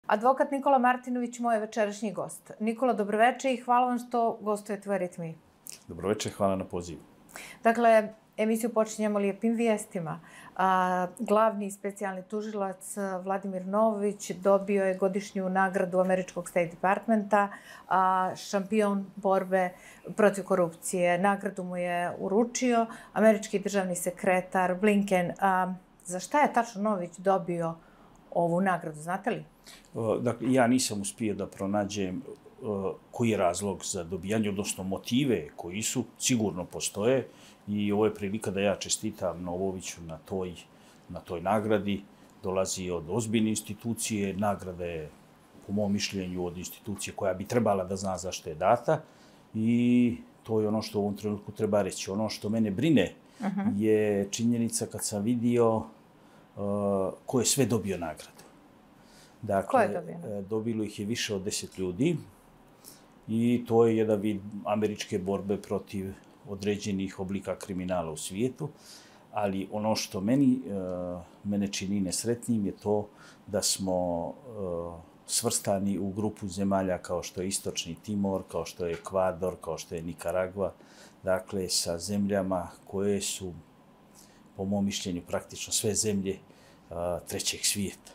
Advokat Nikola Martinović, moj večerašnji gost. Nikola, dobroveče i hvala vam što gostujete u Aritmiji. Dobroveče, hvala na pozivu. Dakle, emisiju počinjemo lijepim vijestima. Glavni specijalni tužilac Vladimir Novović dobio je godišnju nagradu Američkog State Departmenta, šampion borbe protiv korupcije. Nagradu mu je uručio američki državni sekretar Blinken. Za šta je tačno Novović dobio ovu nagradu, znate li? Dakle, ja nisam uspio da pronađem koji je razlog za dobijanje, odnosno motive koji su, sigurno postoje i ovo je prilika da ja čestitam Novoviću na toj nagradi. Dolazi od ozbiljne institucije, nagrada je, po mom mišljenju, od institucije koja bi trebala da zna zašto je data i to je ono što u ovom trenutku treba reći. Ono što mene brine je činjenica kad sam vidio ko je sve dobio nagradu. Dakle, dobilo ih je više od 10 ljudi i to je jedan vid američke borbe protiv određenih oblika kriminala u svijetu, ali ono što mene čini nesretnim je to da smo svrstani u grupu zemalja kao što je Istočni Timor, kao što je Ekvador, kao što je Nikaragva, dakle sa zemljama koje su, po mom mišljenju, praktično sve zemlje trećeg svijeta.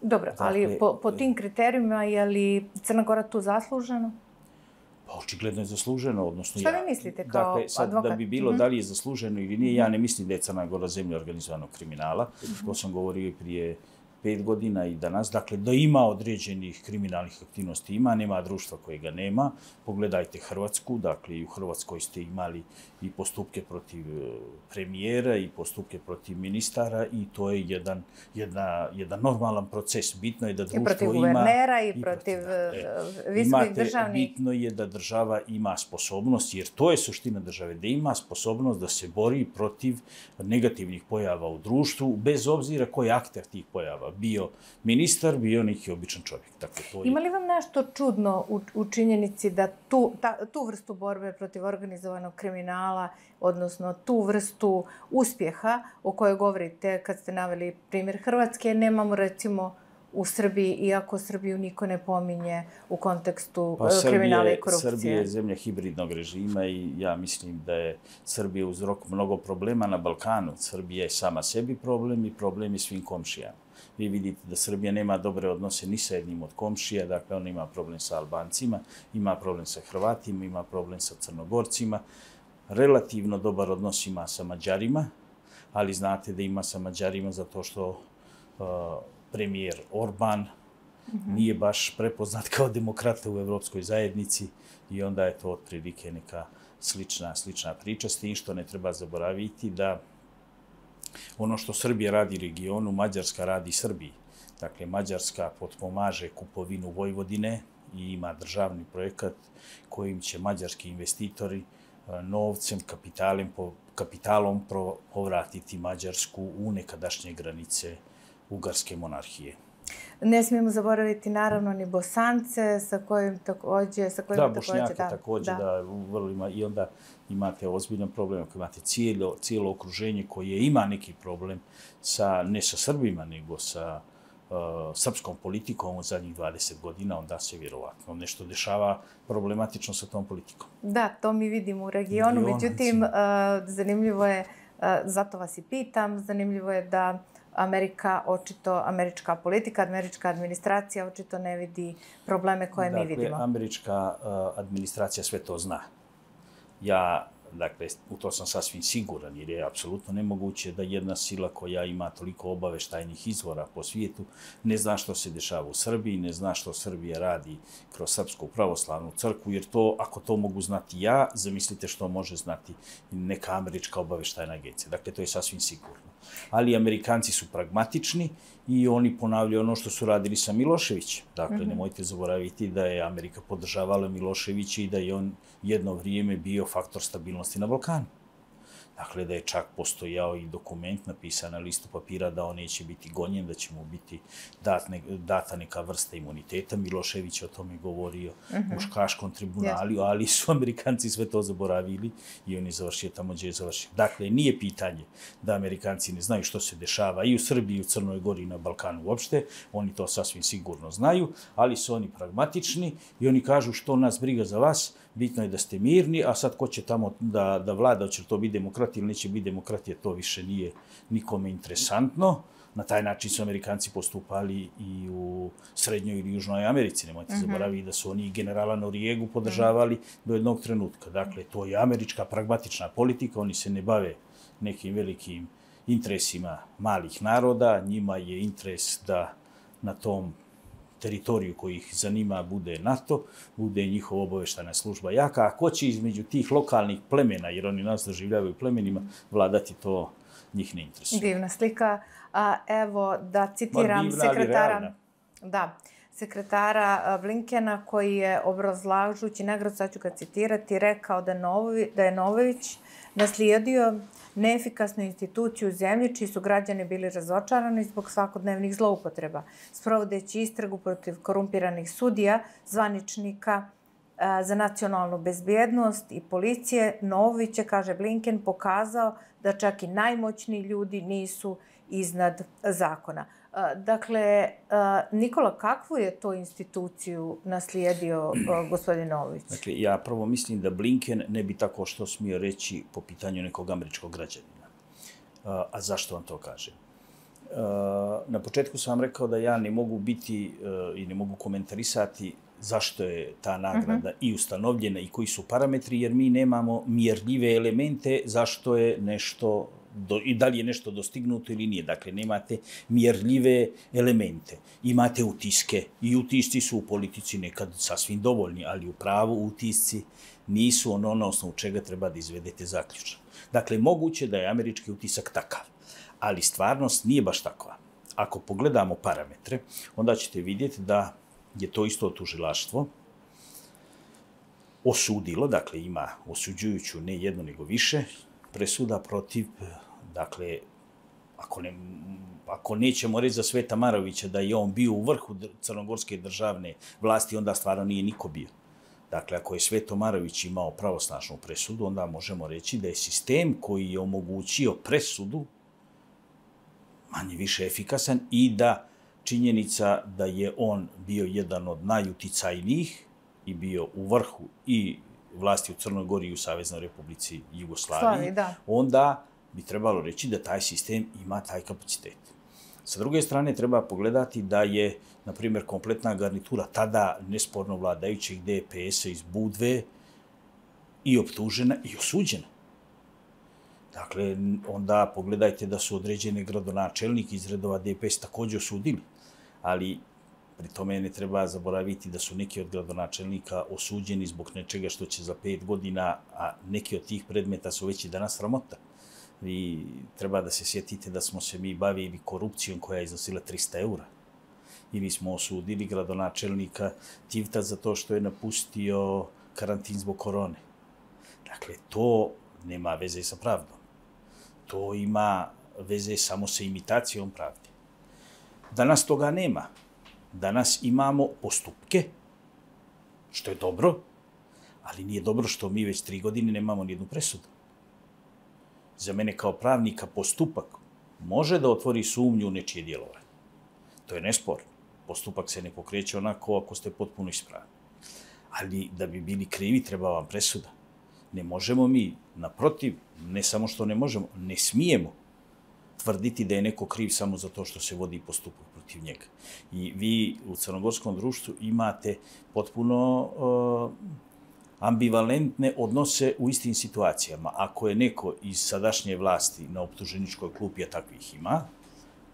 Dobro, ali po tim kriterijima je li Crna Gora tu zasluženo? Pa očigledno je zasluženo, odnosno šta vi mislite kao advokat? Da bi bilo da li je zasluženo ili nije, ja ne mislim da je Crna Gora zemlja organizovanog kriminala. To sam govorio i prije 5 godina i danas. Dakle, da ima određenih kriminalnih aktivnosti, nema društva koje ga nema. Pogledajte Hrvatsku, dakle i u Hrvatskoj ste imali i postupke protiv premijera i postupke protiv ministara i to je jedan normalan proces. Bitno je da društvo ima... I protiv guvernera i protiv visokih državnih... Bitno je da država ima sposobnost, jer to je suština države, da ima sposobnost da se bori protiv negativnih pojava u društvu, bez obzira koji je akter tih pojava. Bio ministar, bio neki običan čovjek. Dakle, to je... Ima li vam nešto čudno u činjenici da tu vrstu borbe protiv organizovanog kriminala, odnosno tu vrstu uspjeha o kojoj govorite kad ste naveli primjer Hrvatske, nemamo recimo u Srbiji, iako Srbiju niko ne pominje u kontekstu kriminala i korupcije? Srbija je zemlja hibridnog režima i ja mislim da je Srbija uzrok mnogo problema na Balkanu. Srbija je sama sebi problem i problem je svim komšijama. Vi vidite da Srbija nema dobre odnose ni sa jednim od komšija, dakle ona ima problem sa Albancima, ima problem sa Hrvatima, ima problem sa Crnogorcima, relativno dobar odnos ima sa Mađarima, ali znate da ima sa Mađarima zato što premijer Orban nije baš prepoznat kao demokrata u Evropskoj zajednici i onda je to otprilike neka slična priča, s tim što ne treba zaboraviti da ono što Srbija radi regionu, Mađarska radi Srbiji. Dakle, Mađarska potpomaže kupovinu Vojvodine i ima državni projekat kojim će mađarski investitori novcem, kapitalom povratiti Mađarsku u nekadašnje granice Ugarske monarhije. Ne smijemo zaboraviti naravno ni Bosance, sa kojim također... Da, Bošnjake također, i onda imate ozbiljan problem, ako imate cijelo okruženje koje ima neki problem ne sa Srbima, nego sa srpskom politikom u zadnjih 20 godina, onda se vjerovatno nešto dešava problematično sa tom politikom. Da, to mi vidimo u regionu, međutim, zanimljivo je, zato vas i pitam, zanimljivo je da američka politika, američka administracija očito ne vidi probleme koje mi vidimo. Dakle, američka administracija sve to zna. Dakle, u to sam sasvim siguran, jer je apsolutno nemoguće da jedna sila koja ima toliko obaveštajnih izvora po svijetu ne zna što se dešava u Srbiji, ne zna što Srbija radi kroz Srpsku pravoslavnu crkvu, jer to, ako to mogu znati ja, zamislite što može znati neka američka obaveštajna agencija. Dakle, to je sasvim sigurno. Ali Amerikanci su pragmatični i oni ponavljaju ono što su radili sa Miloševićem. Dakle, nemojte zaboraviti da je Amerika podržavala Miloševića i da je on jedno vrijeme bio faktor stabilnosti na Balkanu. Dakle, da je čak postojao i dokument napisan na listu papira da on neće biti gonjen, da će mu biti data neka vrsta imuniteta. Milošević je o tome govorio u Škaškom tribunalu, ali su Amerikanci sve to zaboravili i on je završio tamo gdje je završio. Dakle, nije pitanje da Amerikanci ne znaju što se dešava i u Srbiji, i u Crnoj Gori, i na Balkanu uopšte. Oni to sasvim sigurno znaju, ali su oni pragmatični i oni kažu što nas briga za vas, bitno je da ste mirni, a sad ko će tamo da vlada, će to biti demokratija ili neće biti demokratija, to više nije nikome interesantno. Na taj način su Amerikanci postupali i u Srednjoj ili Južnoj Americi. Nemojte zaboraviti da su oni generala Norijegu podržavali do jednog trenutka. Dakle, to je američka pragmatična politika, oni se ne bave nekim velikim interesima malih naroda, njima je interes da na tom teritoriju koji ih zanima bude NATO, bude njihova obavještajna služba jaka, a ko će između tih lokalnih plemena, jer oni nas doživljavaju plemenima, vladati, to njih ne interesuje. Divna slika. Evo, da citiram sekretara Blinkena, koji je obrazlažući nagradu, sad ću ga citirati, rekao da je Novović naslijedio neefikasnu instituciju u zemlji, čiji su građani bili razočarani zbog svakodnevnih zloupotreba. Sprovodeći istragu protiv korumpiranih sudija, zvaničnika za nacionalnu bezbjednost i policije, Novović je, kaže Blinken, pokazao da čak i najmoćniji ljudi nisu iznad zakona. Dakle, Nikola, kakvu je to instituciju naslijedio gospodin Novović? Dakle, ja prvo mislim da Blinken ne bi tako što smio reći po pitanju nekog američkog građanina. A zašto vam to kažem? Na početku sam vam rekao da ja ne mogu biti i ne mogu komentarisati zašto je ta nagrada i ustanovljena i koji su parametri, jer mi nemamo mjerljive elemente zašto je nešto i da li je nešto dostignuto ili nije. Dakle, nemate mjerljive elemente. Imate utiske i utisci su u politici nekad sasvim dovoljni, ali u pravu utisci nisu ono na osnovu čega treba da izvedete zaključak. Dakle, moguće da je američki utisak takav, ali stvarnost nije baš takva. Ako pogledamo parametre, onda ćete vidjeti da je to isto tužilaštvo osudilo, dakle ima osuđujuću ne jedno nego više presuda protiv, dakle, ako nećemo reći za Sveta Marovića da je on bio u vrhu crnogorske državne vlasti, onda stvarno nije niko bio. Dakle, ako je Sveto Marović imao pravosnažnu presudu, onda možemo reći da je sistem koji je omogućio presudu manje više efikasan i da činjenica da je on bio jedan od najuticajnijih i bio u vrhu i vlasti u Crnoj Gori i u Saveznoj Republici Jugoslaviji, onda bi trebalo reći da taj sistem ima taj kapacitet. Sa druge strane, treba pogledati da je, na primjer, kompletna garnitura tada nesporno vladajućeg DPS-a iz Budve i optužena i osuđena. Dakle, onda pogledajte da su određene gradonačelnike iz redova DPS također osudili, ali pri tome ne treba zaboraviti da su neki od gradonačelnika osuđeni zbog nečega što će za 5 godina, a neki od tih predmeta su već i danas sramota. Vi treba da se sjetite da smo se mi bavili korupcijom koja je iznosila 300 eura. I mi smo osudili gradonačelnika Tivta za to što je napustio karantin zbog korone. Dakle, to nema veze sa pravdom. To ima veze samo sa imitacijom pravde. Danas toga nema. Danas imamo postupke, što je dobro, ali nije dobro što mi već 3 godine nemamo nijednu presudu. Za mene kao pravnika postupak može da otvori sumnju u nečije djelovanje. To je nesporno. Postupak se ne pokreće onako ako ste potpuno ispravni. Ali da bi bili krivi treba vam presuda. Ne možemo mi, naprotiv, ne samo što ne možemo, ne smijemo tvrditi da je neko kriv samo zato što se vodi postupak protiv njega. I vi u crnogorskom društvu imate potpuno ambivalentne odnose u istim situacijama. Ako je neko iz sadašnje vlasti na optuženičkoj klupi, a takvih ima,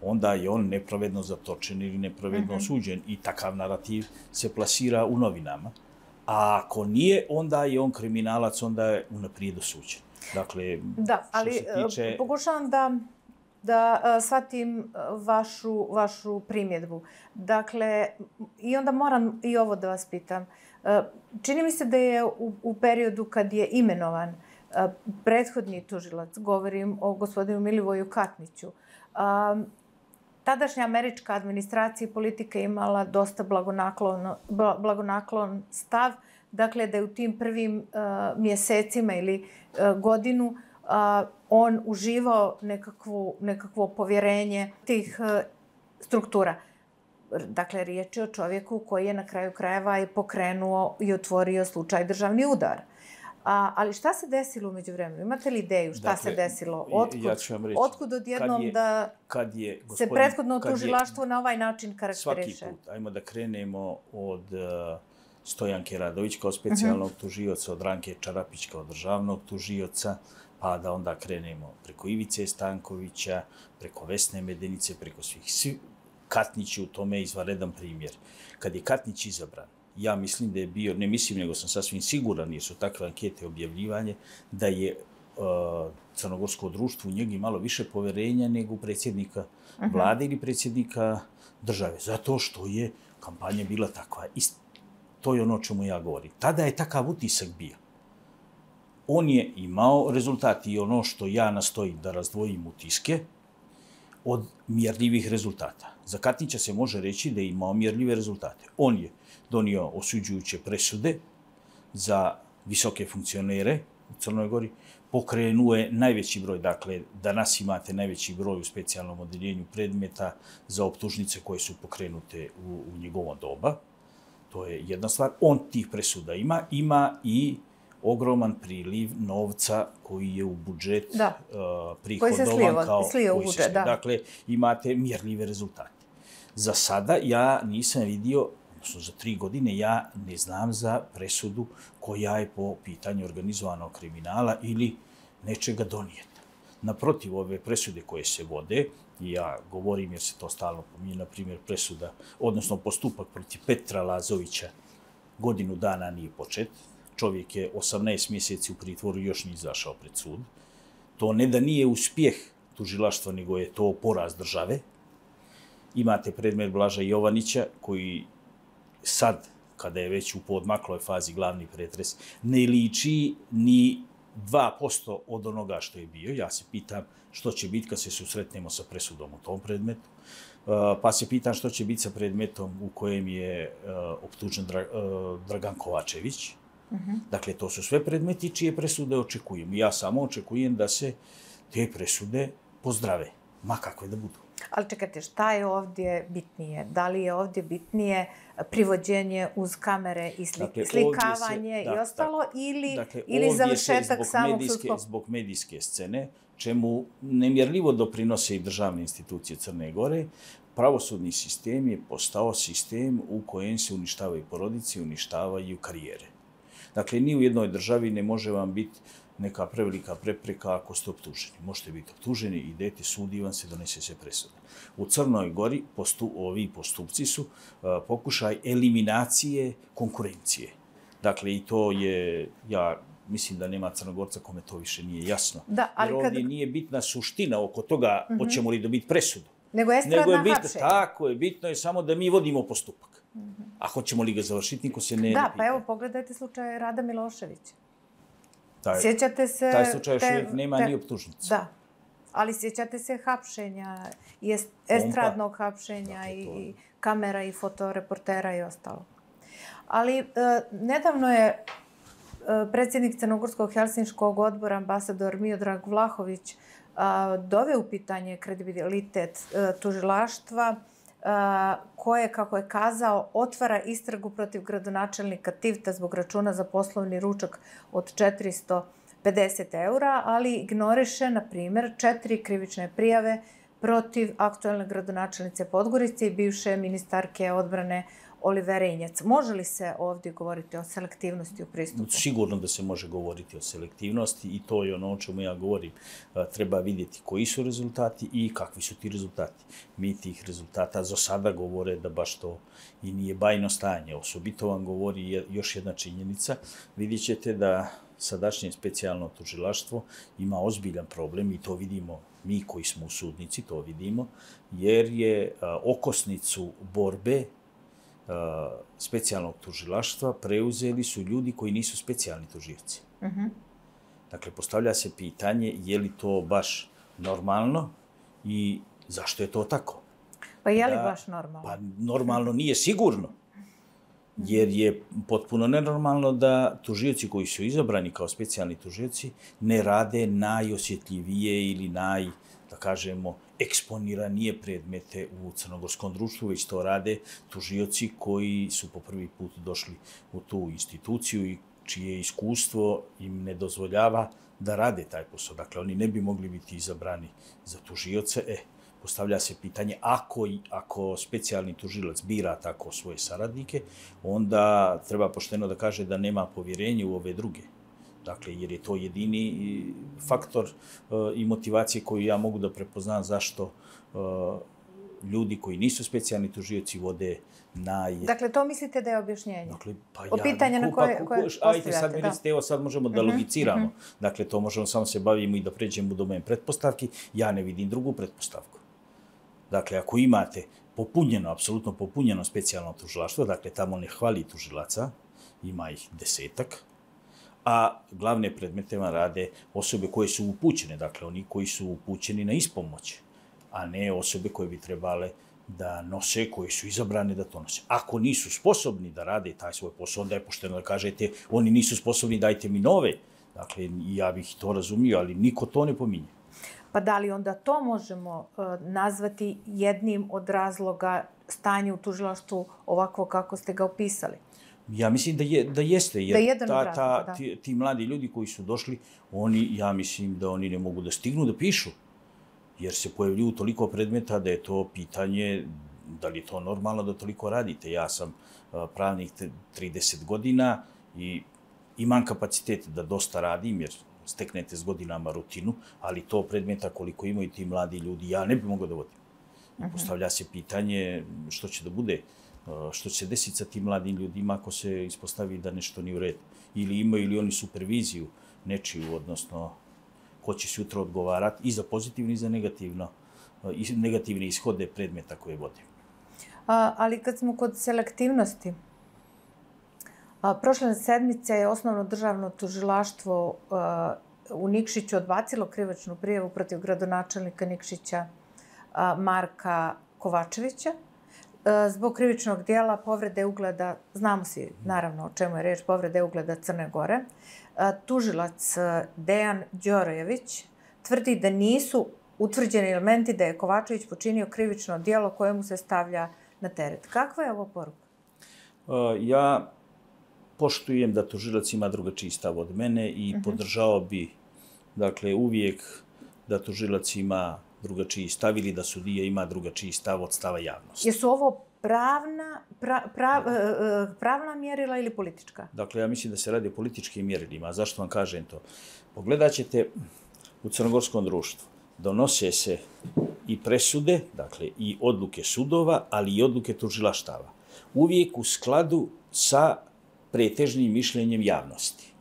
onda je on nepravedno zatočen ili nepravedno osuđen i takav narativ se plasira u novinama. A ako nije, onda je on kriminalac, onda je unaprijed osuđen. Dakle, da, ali pokušavam da shvatim vašu primjedbu. Dakle, i onda moram i ovo da vas pitam. Čini mi se da je u periodu kad je imenovan prethodni tužilac, govorim o gospodinu Milivoju Katniću, tadašnja američka administracija i politika imala dosta blagonaklon stav, dakle da je u tim prvim mjesecima ili godinu on uživao nekakvo povjerenje tih struktura. Dakle, riječ je o čovjeku koji je na kraju krajeva i pokrenuo i otvorio slučaj državni udar. Ali šta se desilo umeđu vremenu? Imate li ideju šta se desilo? Otkud odjednom da se prethodno tužilaštvo na ovaj način karakteriše? Svaki put. Ajmo da krenemo od Stojanke Radović kao specijalnog tužioca, od Ranke Čarapić kao državnog tužioca, pa da onda krenemo preko Ivice Stankovića, preko Vesne Medenice, preko svih. Katnić je u tome izvanredan primjer. Kad je Katnić izabran, ja mislim da je bio, ne mislim, nego sam sasvim siguran, jer su takve ankete objavljivanje, da je crnogorsko društvo u njegi malo više poverenja nego predsjednika vlade ili predsjednika države. Zato što je kampanja bila takva. I to je ono o čemu ja govorim. Tada je takav utisak bio. On je imao rezultati i ono što ja nastojim da razdvojim utiske od mjerljivih rezultata. Za Katnića se može reći da je imao mjerljive rezultate. On je donio osuđujuće presude za visoke funkcionere u Crnoj Gori, pokrenuo je najveći broj, dakle, danas imate najveći broj u specijalnom odeljenju predmeta za optužnice koje su pokrenute u njegovo doba. To je jedna stvar. On tih presuda ima i ogroman priliv novca koji je u budžet prihodovan kao koji se slio. Dakle, imate mjerljive rezultate. Za sada ja nisam vidio, odnosno za 3 godine, ja ne znam za presudu koja je po pitanju organizovanog kriminala ili nečega donijeta. Naprotiv, ove presude koje se vode, i ja govorim jer se to stalno pominje, na primjer presuda, odnosno postupak protiv Petra Lazovića, godinu dana nije počet. Čovjek je 18 mjeseci u pritvoru i još nije izašao pred sud. To ne da nije uspjeh tužilaštva, nego je to poraz države. Imate predmet Blaža Jovanića, koji sad, kada je već u poodmakloj fazi glavni pretres, ne liči ni 2% od onoga što je bio. Ja se pitam što će biti kad se susretnemo sa presudom u tom predmetu. Pa se pitam što će biti sa predmetom u kojem je optužen Dragan Kovačević. Dakle, to su sve predmeti čije presude očekujem. Ja samo očekujem da se te presude pozdrave, ma kakve da budu. Ali čekajte, šta je ovdje bitnije? Da li je ovdje bitnije privođenje uz kamere i slikavanje i ostalo, ili završetak samog sudskog? Zbog medijske scene, čemu nemjerljivo doprinose i državne institucije Crne Gore, pravosudni sistem je postao sistem u kojem se uništavaju porodice, uništavaju karijere. Dakle, ni u jednoj državi ne može vam biti neka prevelika prepreka ako ste optuženi. Možete biti optuženi, idete, sudi vam se, donese se presuda. U Crnoj Gori ovi postupci su pokušaj eliminacije konkurencije. Dakle, i to je, ja mislim da nema Crnogorca kome to više nije jasno. Jer ovdje nije bitna suština oko toga hoćemo li dobiti presudu. Nego estradna hapšenja. Tako je, bitno je samo da mi vodimo postupak. A hoćemo li ga završiti, niko se ne pita. Da, pa evo, pogledajte slučaj Rada Miloševića. Sjećate se... Taj slučaj još uvijek nema ni optužnicu. Da, ali sjećate se hapšenja, estradnog hapšenja i kamera i fotoreportera i ostalo. Ali nedavno je predsjednik Crnogorskog helsinškog odbora, ambasador Miodrag Vlahović, doveo u pitanje kredibilitet tužilaštva koje, kako je kazao, otvara istragu protiv gradonačelnika Tivta zbog računa za poslovni ručak od 450 €, ali ignoriše, na primjer, 4 krivične prijave protiv aktualne gradonačelnice Podgorice i bivše ministarke odbrane Olivere Injac. Može li se ovdje govoriti o selektivnosti u pristupu? Sigurno da se može govoriti o selektivnosti i to je ono o čemu ja govorim. Treba vidjeti koji su rezultati i kakvi su ti rezultati. Mi tih rezultata za sada govore da baš to i nije bajno stanje. Osobito vam govori još jedna činjenica. Vidjet ćete da sadašnje specijalno tužilaštvo ima ozbiljan problem i to vidimo mi koji smo u sudnici, to vidimo, jer je okosnicu borbe specijalnog tužilaštva preuzeli su ljudi koji nisu specijalni tužioci. Dakle, postavlja se pitanje je li to baš normalno i zašto je to tako? Pa je li baš normalno? Pa normalno nije sigurno. Jer je potpuno nenormalno da tužioci koji su izabrani kao specijalni tužioci ne rade najosjetljivije ili da kažemo, eksponiranije predmete u crnogorskom društvu, već to rade tužioci koji su po prvi put došli u tu instituciju i čije iskustvo im ne dozvoljava da rade taj posao. Dakle, oni ne bi mogli biti izabrani za tužioce. Postavlja se pitanje, ako specijalni tužilac bira tako svoje saradnike, onda treba pošteno da kaže da nema povjerenja u ove druge. Dakle, jer je to jedini faktor i motivacije koju ja mogu da prepoznam zašto ljudi koji nisu specijalni tužioci vode Dakle, to mislite da je objašnjenje? Dakle, pa o pitanje na koje postavljate. Ajde, sad mi recite, evo sad možemo da logiciramo. Dakle, to možemo samo se bavimo i da pređemo u domen pretpostavki. Ja ne vidim drugu pretpostavku. Dakle, ako imate popunjeno, apsolutno popunjeno specijalno tužilaštvo, dakle, tamo ne hvali tužilaca, ima ih 10-ak, a glavne predmete vam rade osobe koje su upućene, dakle, oni koji su upućeni na ispomoć, a ne osobe koje bi trebale da nose, koje su izabrane da to nose. Ako nisu sposobni da rade taj svoj posao, onda je pošteno da kažete, oni nisu sposobni, dajte mi nove. Dakle, ja bih to razumio, ali niko to ne pominje. Pa da li onda to možemo nazvati jednim od razloga stanja u tužilaštvu ovako kako ste ga opisali? Ja mislim da jeste, jer ti mladi ljudi koji su došli, ja mislim da oni ne mogu da stignu da pišu, jer se pojavljuju toliko predmeta da je to pitanje da li je to normalno da toliko radite. Ja sam pravnik 30 godina i imam kapacitet da dosta radim, jer steknete s godinama rutinu, ali to predmeta koliko imaju ti mladi ljudi, ja ne bi mogao da vodim. Postavlja se pitanje što će da bude, što će se desiti sa tim mladim ljudima ako se ispostavi da nešto nije u redu. Ili imaju li oni superviziju nečiju, odnosno ko će se jutro odgovarati i za pozitivno i za negativne ishode predmeta koje vode. Ali kad smo kod selektivnosti, prošle sedmice je Osnovno državno tužilaštvo u Nikšiću odbacilo krivičnu prijavu protiv gradonačelnika Nikšića Marka Kovačevića zbog krivičnog dijela povrede ugleda, znamo svi naravno o čemu je reč, povrede ugleda Crne Gore. Tužilac Dejan Đorojević tvrdi da nisu utvrđeni elementi da je Kovačević počinio krivično dijelo koje mu se stavlja na teret. Kakva je ovo poruka? Ja poštujem da tužilac ima drugačiji stav od mene i podržao bi, dakle, uvijek da tužilac ima drugačiji stav ili da sudija ima drugačiji stav od stava javnosti. Jesu ovo pravna mjerila ili politička? Dakle, ja mislim da se radi o političkim mjerilima. A zašto vam kažem to? Pogledat ćete u crnogorskom društvu. Donose se i presude, dakle, i odluke sudova, ali i odluke tužilaštava. Uvijek u skladu sa pretežnim mišljenjem javnosti.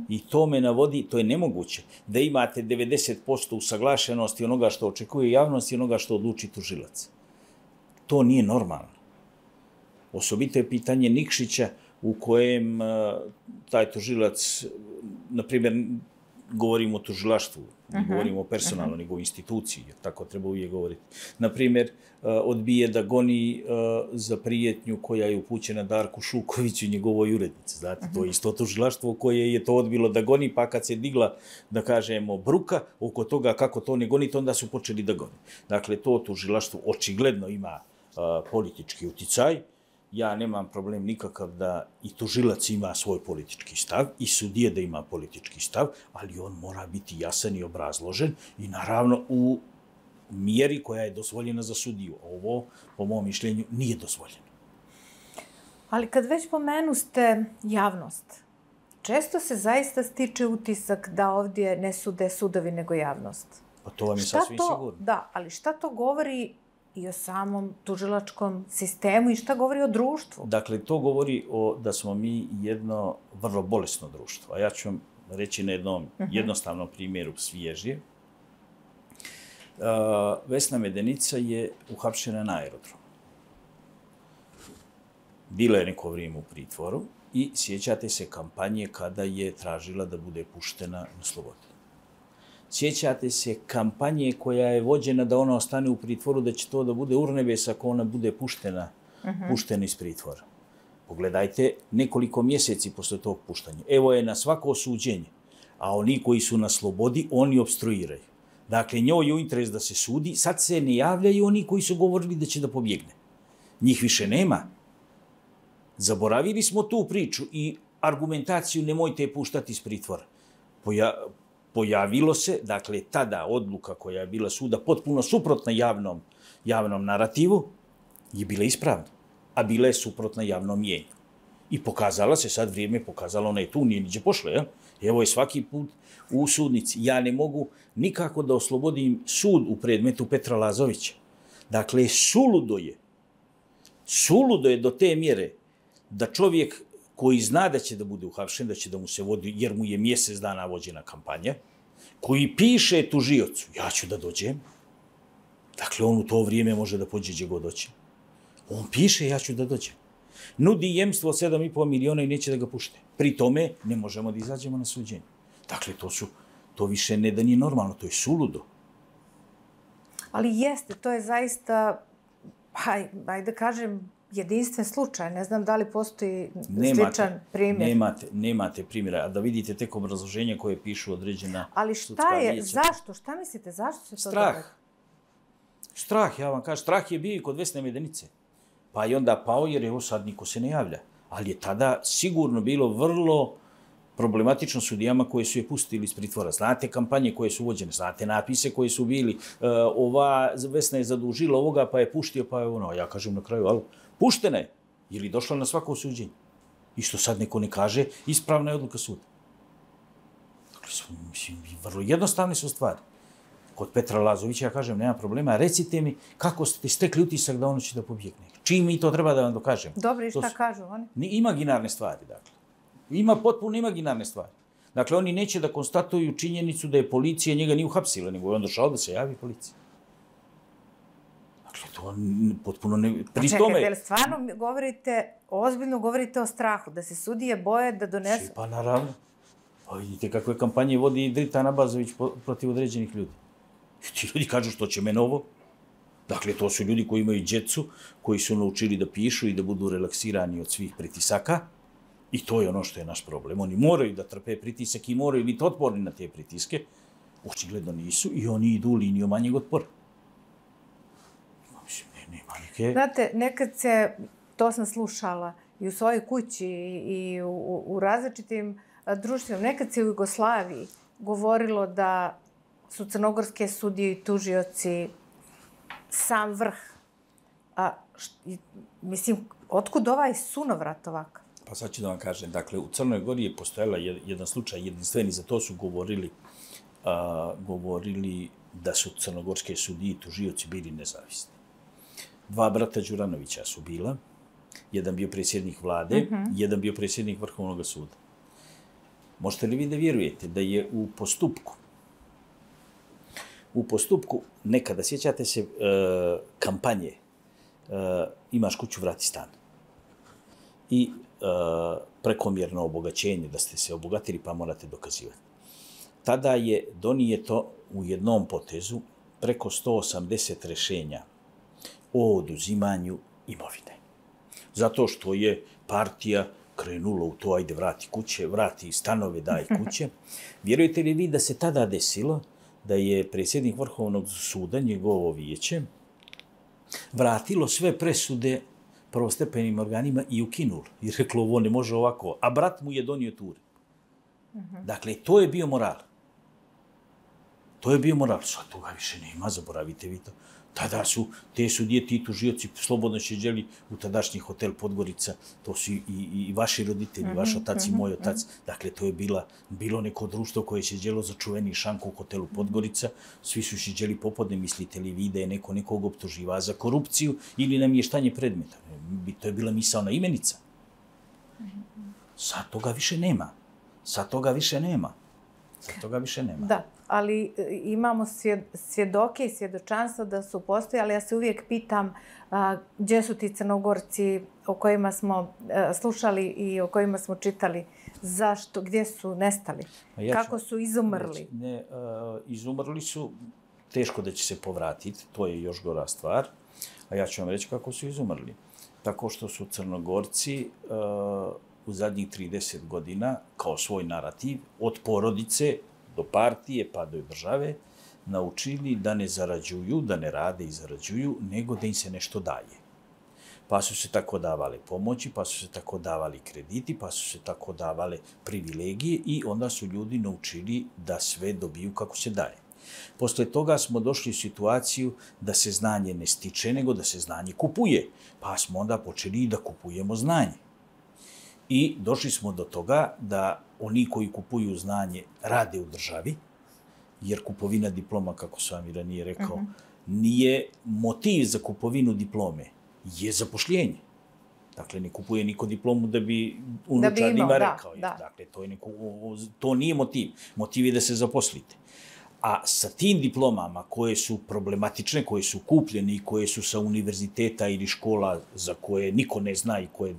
I to me navodi, to je nemoguće, da imate 90% usaglašenosti onoga što očekuje javnost i onoga što odluči tužilac. To nije normalno. Osobito je pitanje Nikšića u kojem taj tužilac, na primjer, govorimo o tužilaštvu, ne govorimo o personalno, nego o instituciji, jer tako treba uvijek govoriti. Naprimjer, odbije da goni za prijetnju koja je upućena Darku Šukoviću i njegovoj urednici. Znate, to je isto tužilaštvo koje je to odbilo da goni, pa kad se digla, da kažemo, bruka oko toga kako to ne gonite, onda su počeli da goni. Dakle, to tužilaštvo očigledno ima politički uticaj. Ja nemam problem nikakav da i tužilac ima svoj politički stav i sudije da ima politički stav, ali on mora biti jasan i obrazložen i naravno u mjeri koja je dozvoljena za sudiju. Ovo, po mom mišljenju, nije dozvoljeno. Ali kad već pomenuste javnost, često se zaista stiče utisak da ovdje ne sude sudovi nego javnost. Pa to vam je sasvim sigurno. Da, ali šta to govori i o samom tužilačkom sistemu i šta govori o društvu? Dakle, to govori da smo mi jedno vrlo bolesno društvo. A ja ću vam reći na jednom jednostavnom primjeru svježije. Vesna Medenica je uhapšena na aerodromu. Bila je neko vrijeme u pritvoru I sjećate se kampanje kada je tražila da bude puštena na slobodu. Sjećate se kampanje koja je vođena da ona ostane u pritvoru, da će to da bude urnebes ako ona bude puštena iz pritvora. Pogledajte nekoliko mjeseci posle tog puštanja. Evo je na svako suđenje, a oni koji su na slobodi, oni obstruiraju. Dakle, njoj je u interes da se sudi, sad se ne javljaju oni koji su govorili da će da pobjegne. Njih više nema. Zaboravili smo tu priču i argumentaciju nemojte je puštati iz pritvora. Pojavilo se, dakle, tada odluka koja je bila suda potpuno suprotna javnom narativu je bila ispravna, a bila je suprotna javnom mijenju. I pokazala se, sad vrijeme pokazalo, ona je tu, nije niđe pošla, ja? Evo je svaki put u sudnici. Ja ne mogu nikako da oslobodim sud u predmetu Petra Lazovića. Dakle, suludo je do te mjere da čovjek koji zna da će da bude uhapšen, da će da mu se vodi, jer mu je mjesec dana vođena kampanja, koji piše tužiocu, ja ću da dođem, dakle, on u to vrijeme može da pođe gdje god hoće. On piše, ja ću da dođem. Nudi jemstvo od 7,5 miliona i neće da ga pušte. Pri tome ne možemo da izađemo na suđenje. Dakle, to više ne da nije normalno, to je suludo. Ali jeste, to je zaista, ajde da kažem, jedinstven slučaj. Ne znam da li postoji sličan primjer. Nemate primjera. A da vidite tek obrazloženja koje pišu određena ali šta je, zašto? Šta mislite, zašto se to događa? Strah, ja vam kažem. Strah je bio i kod Vesne Medenice. Pa i onda pao jer evo sad niko se ne javlja. Ali je tada sigurno bilo vrlo problematično sudijama koje su je pustili iz pritvora. Znate kampanje koje su uvođene, znate napise koji su bili. Ova Vesna je zadužila ovoga pa je puštio, pa je ono. Ja kažem na kraju, ali puštena je. Ili došla na svako suđenje. I što sad neko ne kaže, ispravna je odluka suda. Dakle, mislim, vrlo jednostavne su stvari. Kod Petra Lazovića, ja kažem, nema problema, recite mi kako ste stekli utisak da ono će da pobjegne. Čim mi to treba da vam dokažem? Dobro, i šta kažu oni? Imaginarne stvari, dakle. Ima potpuno imaginarne stvari. Dakle, oni neće da konstatuju činjenicu da je policija njega nije uhapsila, nego je on došao da se javi policiji. Dakle, to potpuno ne... Čekajte, ali stvarno ozbiljno govorite o strahu, da se sudije boje da donesu... Pa naravno. Pa vidite kakve kampanje vodi Dritan Abazović protiv određenih ljudi. Ti ljudi kažu što će mene ovo. Dakle, to su ljudi koji imaju djecu, koji su naučili da pišu i da budu relaksirani od svih pritisaka. I to je ono što je naš problem. Oni moraju da trpe pritisak i moraju biti otporni na te pritiske. Očigledno nisu i oni idu u liniju manjeg otpora. Znate, nekad se, to sam slušala i u svojoj kući i u različitim društvima, nekad se u Jugoslaviji govorilo da su crnogorske sudije i tužioci sam vrh. Mislim, otkud ovaj sunovrat ovakav? Pa sad ću da vam kažem. Dakle, u Crnoj Gori je postojala jedan slučaj jedinstveni, za to su govorili da su crnogorske sudije i tužioci bili nezavisni. 2 brata Đuranovića su bila, jedan bio predsjednik vlade, jedan bio predsjednik Vrhovnog suda. Možete li vi da vjerujete da je u postupku nekada, sjećate se kampanje, imaš kuću, vrati stan. I prekomjerno obogaćenje, da ste se obogatili pa morate dokazivati. Tada je donijeto u jednom potezu preko 180 rješenja o oduzimanju imovine. Zato što je partija krenula u to, ajde vrati kuće, vrati stanove, daj kuće. Vjerujete li vi da se tada desilo da je predsjednik Vrhovnog suda, njegovo vijeće, vratilo sve presude prvostepenim organima i ukinulo. I reklo, ovo ne može ovako. A brat mu je donio ture. Dakle, to je bio moral. Sad toga više nema, zaboravite vi to. Tada su te sudije, ti tužioci slobodno šeđeli u tadašnji hotel Podgorica. To su i vaši roditelji, vaš otac i moj otac. Dakle, to je bilo neko društvo koje je šeđelo za čuveni šank u hotelu Podgorica. Svi su šeđeli popodne, mislite li vi da je neko nekog optuživa za korupciju ili namještanje predmeta. To je bila misaona imenica. Sad toga više nema. ali imamo svjedoke i svjedočanstva da su postojali. Ja se uvijek pitam gdje su ti Crnogorci o kojima smo slušali i o kojima smo čitali. Zašto? Gdje su nestali? Kako su izumrli? Izumrli su, teško da će se povratiti, to je još gora stvar. A ja ću vam reći kako su izumrli. Tako što su Crnogorci u zadnjih 30 godina kao svoj narativ od porodice do partije pa do države naučili da ne zarađuju, da ne rade i zarađuju, nego da im se nešto daje. Pa su se tako davale pomoći, pa su se tako davali krediti, pa su se tako davale privilegije i onda su ljudi naučili da sve dobiju kako se daje. Posle toga smo došli u situaciju da se znanje ne stiče, nego da se znanje kupuje. Pa smo onda počeli da kupujemo znanje. I došli smo do toga da oni koji kupuju znanje rade u državi, jer kupovina diploma, kako sam vam ranije rekao, nije motiv za kupovinu diplome, je zapošljenje. Dakle, ne kupuje niko diplomu da bi unučarima rekao. Dakle, to nije motiv. Motiv je da se zaposlite. A sa tim diplomama koje su problematične, koje su kupljene i koje su sa univerziteta ili škola za koje niko ne zna i koje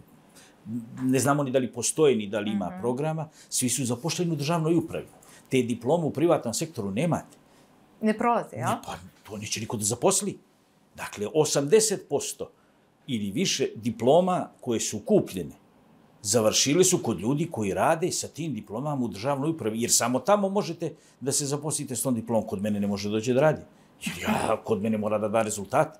ne znamo ni da li postoje, ni da li ima programa, svi su zaposleni u državnoj upravi. Te diplome u privatnom sektoru nemate. Ne prolaze, ja? Pa to neće niko da zaposli. Dakle, 80% ili više diploma koje su kupljene završili su kod ljudi koji rade sa tim diplomama u državnoj upravi, jer samo tamo možete da se zaposlite s tom diplomom. Kod mene ne može doći da radi. Jer kod mene mora da da rezultat.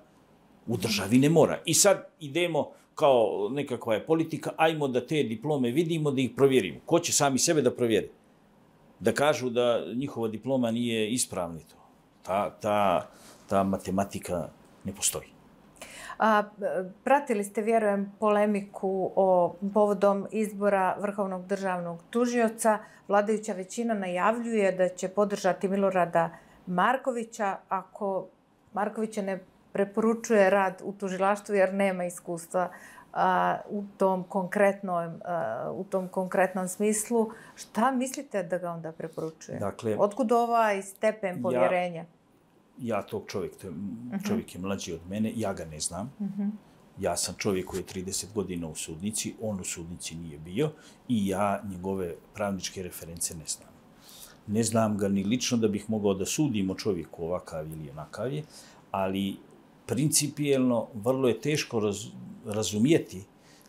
U državi ne mora. I sad idemo kao nekakva je politika, ajmo da te diplome vidimo, da ih provjerimo. Ko će sami sebe da provjeri? Da kažu da njihova diploma nije ispravna. Ta matematika ne postoji. Pratili ste, vjerujem, polemiku povodom izbora Vrhovnog državnog tužioca. Vladajuća većina najavljuje da će podržati Milorada Markovića ako Markovića ne preporučuje rad u tužilaštvu jer nema iskustva u tom konkretnom smislu. Šta mislite da ga onda preporučuje? Dakle, otkud ovaj stepen povjerenja? Ja tog čovjek je mlađi od mene, ja ga ne znam. Ja sam čovjek koji je 30 godina u sudnici, on u sudnici nije bio i ja njegove pravničke reference ne znam. Ne znam ga ni lično da bih mogao da sudim o čovjeku ovakav ili onakav je, ali principijelno vrlo je teško razumijeti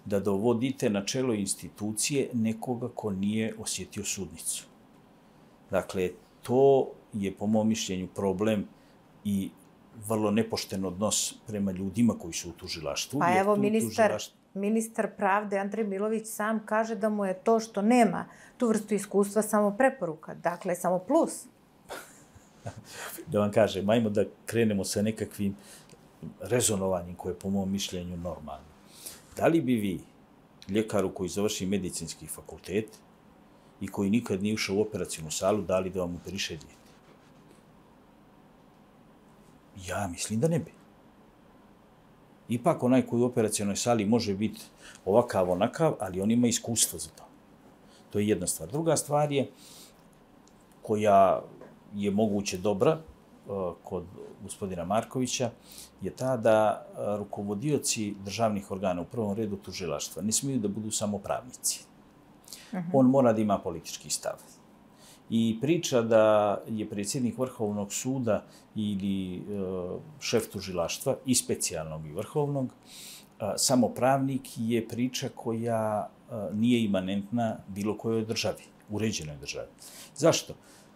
da dovodite na čelo institucije nekoga ko nije osjetio sudnicu. Dakle, to je po mom mišljenju problem i vrlo nepošten odnos prema ljudima koji su u tužilaštvu. Pa evo, ministar pravde Andrej Milović sam kaže da mu je to što nema tu vrstu iskustva samo preporuka, dakle samo plus. Da vam kažem, ajmo da krenemo sa nekakvim rezonovanjem koje je po mom mišljenju normalno. Da li bi vi, ljekaru koji završi medicinski fakultet i koji nikad nije ušao u operacijnu salu, dali da vam operiše dijete? Ja mislim da ne bi. Ipak onaj koji u operacijnoj sali može biti ovakav, onakav, ali on ima iskustvo za to. To je jedna stvar. Druga stvar je, koja je moguće dobra kod gospodina Markovića, je ta da rukovodioci državnih organa, u prvom redu tužilaštva, ne smiju da budu samo pravnici. On mora da ima politički stav. I priča da je predsjednik Vrhovnog suda ili šef tužilaštva, i specijalnog i vrhovnog, samo pravnik, je priča koja nije imanentna bilo kojoj državi, uređenoj državi. Zašto?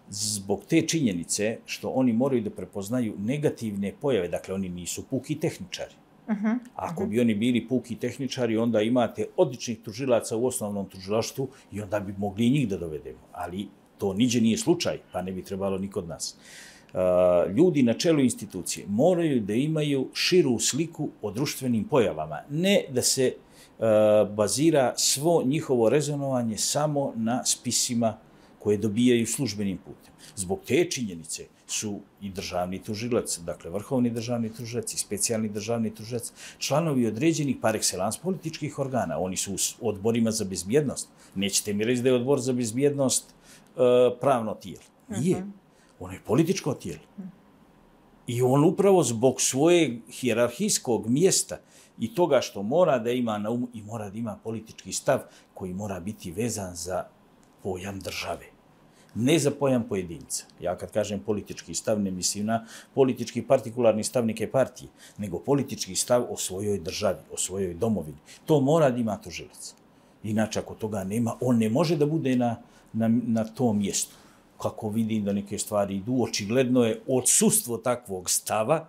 Zbog te činjenice što oni moraju da prepoznaju negativne pojave, dakle oni nisu puki tehničari. Ako bi oni bili puki tehničari, onda imate odličnih tužilaca u osnovnom tužilaštvu i onda bi mogli i njih da dovedemo. Ali to niđe nije slučaj, pa ne bi trebalo ni kod nas. Ljudi na čelu institucije moraju da imaju širu sliku o društvenim pojavama, ne da se bazira svo njihovo rezonovanje samo na spisima koje dobijaju službenim putem. Zbog te činjenice su i državni tužilac, dakle vrhovni državni tužilac i specijalni državni tužilac, članovi određenih par excellence političkih organa. Oni su u odborima za bezbjednost. Nećete mi reći da je odbor za bezbjednost pravno tijelo. Nije. Ono je političko tijelo. I on upravo zbog svojeg hijerarhijskog mjesta i toga što mora da ima na umu i mora da ima politički stav koji mora biti vezan za pojam države. Ne za pojam pojedinca. Ja kad kažem politički stav, ne mislim na politički partikularni stav neke partije, nego politički stav o svojoj državi, o svojoj domovini. To mora da ima tužilac. Inače, ako toga nema, on ne može da bude na tom mjestu. Kako vidim da neke stvari idu, očigledno je odsustvo takvog stava